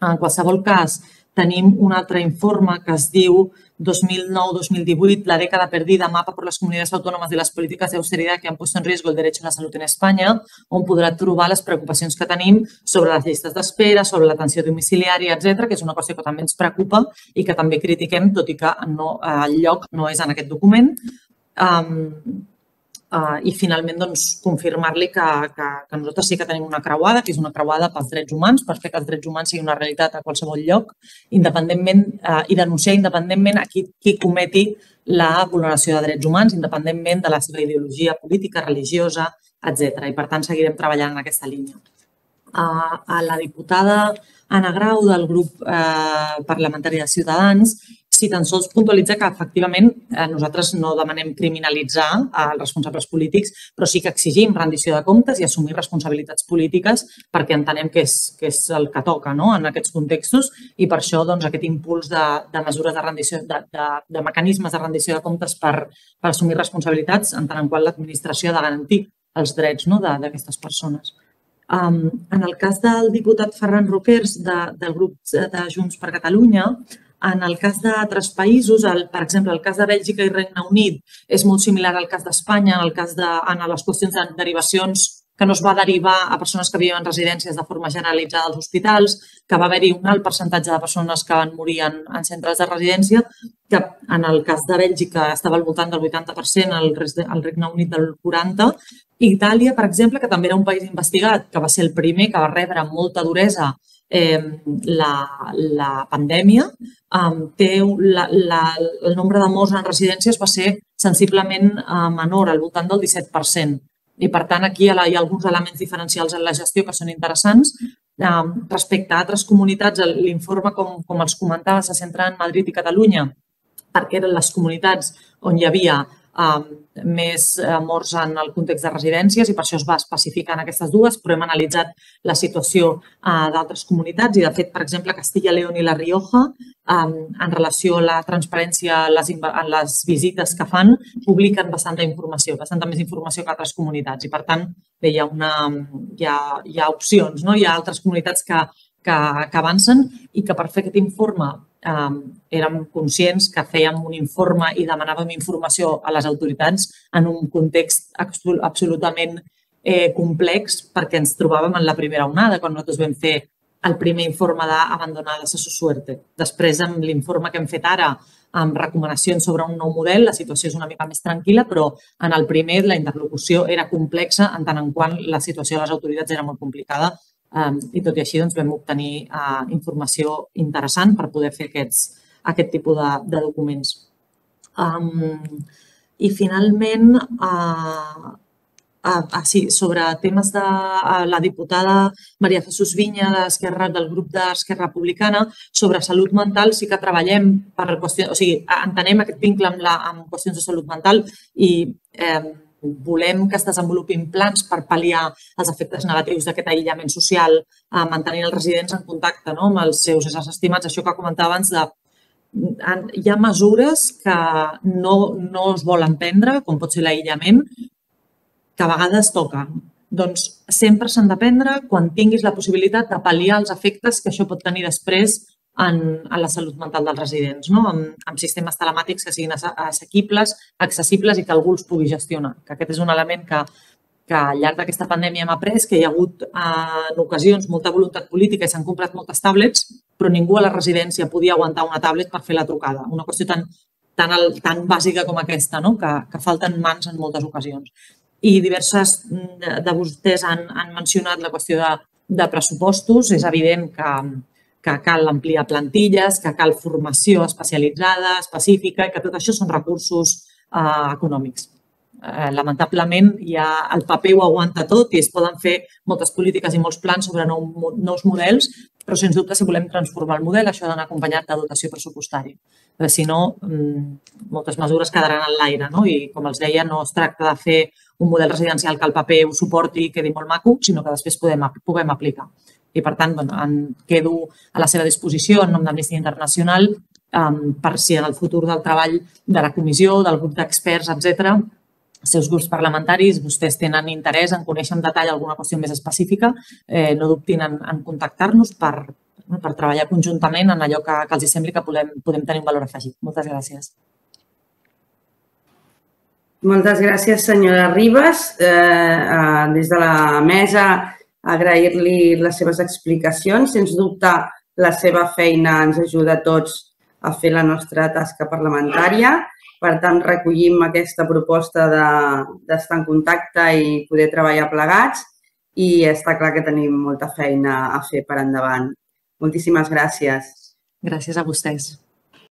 En qualsevol cas, tenim un altre informe que es diu dos mil nou dos mil divuit, la década perdida, mapa por las comunidades autónomas de las políticas de austeridad que han puesto en riesgo el derecho a la salud en España, on podrà trobar les preocupacions que tenim sobre les llistes d'espera, sobre l'atenció domiciliària, etcètera, que és una qüestió que també ens preocupa i que també critiquem, tot i que no, el lloc no és en aquest document. Um, Uh, I finalment doncs, confirmar-li que, que, que nosaltres sí que tenim una creuada, que és una creuada pels drets humans, per fer que els drets humans siguin una realitat a qualsevol lloc, independentment uh, i denunciar independentment a qui, qui cometi la vulneració de drets humans, independentment de la seva ideologia política, religiosa, etcètera. I per tant seguirem treballant en aquesta línia. Uh, a la diputada Anna Grau del grup uh, parlamentari de Ciutadans, sí, tan sols puntualitza que efectivament nosaltres no demanem criminalitzar els responsables polítics, però sí que exigim rendició de comptes i assumir responsabilitats polítiques perquè entenem que és, que és el que toca, no?, en aquests contextos, i per això doncs, aquest impuls de, de mesures de rendició, de, de, de mecanismes de rendició de comptes per, per assumir responsabilitats, en tant en qual l'administració ha de garantir els drets, no?, d'aquestes persones. Um, en el cas del diputat Ferran Roquers de, del grup de Junts per Catalunya, en el cas d'altres països, el, per exemple, el cas de Bèlgica i Regne Unit és molt similar al cas d'Espanya, en el cas de en les qüestions de derivacions que no es va derivar a persones que viuen en residències de forma generalitzada als hospitals, que va haver-hi un alt percentatge de persones que van morir en, en centres de residència, que en el cas de Bèlgica estava al voltant del vuitanta per cent, al Regne Unit del quaranta per cent. Itàlia, per exemple, que també era un país investigat, que va ser el primer que va rebre amb molta duresa eh, la, la pandèmia, eh, té la, la, el nombre de morts en residències va ser sensiblement eh, menor, al voltant del disset per cent. I, per tant, aquí hi ha, hi ha alguns elements diferencials en la gestió que són interessants. Eh, respecte a altres comunitats, l'informe, com, com els comentava, se centra en Madrid i Catalunya, perquè eren les comunitats on hi havia Um, més uh, morts en el context de residències i per això es va especificar en aquestes dues, però hem analitzat la situació uh, d'altres comunitats i, de fet, per exemple, Castilla, León i La Rioja, um, en relació a la transparència en les, en les visites que fan, publiquen bastanta informació, bastanta més informació que altres comunitats i, per tant, bé, hi ha, una, hi ha, hi ha opcions, no? Hi ha altres comunitats que, que, que avancen i que per fer aquest informe Um, érem conscients que fèiem un informe i demanàvem informació a les autoritats en un context absolutament eh, complex perquè ens trobàvem en la primera onada, quan nosaltres vam fer el primer informe d'Abandonadas a su suerte. Després, amb l'informe que hem fet ara, amb recomanacions sobre un nou model, la situació és una mica més tranquil·la, però en el primer la interlocució era complexa en tant en quant la situació de les autoritats era molt complicada. Um, I tot i així doncs, vam obtenir uh, informació interessant per poder fer aquests, aquest tipus de, de documents. Um, I finalment, uh, uh, uh, sí, sobre temes de uh, la diputada Maria Jesús Viña d'Esquerra, del grup d'Esquerra Republicana, sobre salut mental sí que treballem per qüestions, o sigui, entenem aquest vincle amb, la, amb qüestions de salut mental i eh, volem que es desenvolupin plans per pal·liar els efectes negatius d'aquest aïllament social, mantenint els residents en contacte, no?, amb els seus éssers estimats. Això que comentava abans, de, hi ha mesures que no, no es volen prendre, com pot ser l'aïllament, que a vegades toquen. Doncs sempre s'han de prendre quan tinguis la possibilitat de pal·liar els efectes que això pot tenir després en, en la salut mental dels residents, no? amb, amb sistemes telemàtics que siguin assequibles, accessibles i que algú els pugui gestionar. Que aquest és un element que, que al llarg d'aquesta pandèmia hem après, que hi ha hagut en ocasions molta voluntat política i s'han comprat moltes tablets, però ningú a la residència podia aguantar una tablet per fer la trucada. Una qüestió tan, tan, tan bàsica com aquesta, no? que, que falten mans en moltes ocasions. I diverses de vostès han, han mencionat la qüestió de, de pressupostos. És evident que que cal ampliar plantilles, que cal formació especialitzada, específica, i que tot això són recursos eh, econòmics. lamentablement ja el paper ho aguanta tot i es poden fer moltes polítiques i molts plans sobre nous models, però sens dubte si volem transformar el model això ha d'anar acompanyat de dotació pressupostària. Perquè si no, moltes mesures quedaran en l'aire i com els deia no es tracta de fer un model residencial que el paper ho suporti i quedi molt maco, sinó que després puguem aplicar. I per tant, em quedo a la seva disposició en nom d'Amnistia Internacional per si en el futur del treball de la comissió, del grup d'experts, etcètera, els seus grups parlamentaris, vostès tenen interès en conèixer en detall alguna qüestió més específica, no dubtin en contactar-nos per treballar conjuntament en allò que els sembli que podem tenir un valor afegit. Moltes gràcies. Moltes gràcies, senyora Ribas. Des de la mesa, agrair-li les seves explicacions. Sens dubte, la seva feina ens ajuda a tots a fer la nostra tasca parlamentària. Per tant, recollim aquesta proposta d'estar en contacte i poder treballar plegats i està clar que tenim molta feina a fer per endavant. Moltíssimes gràcies. Gràcies a vostès.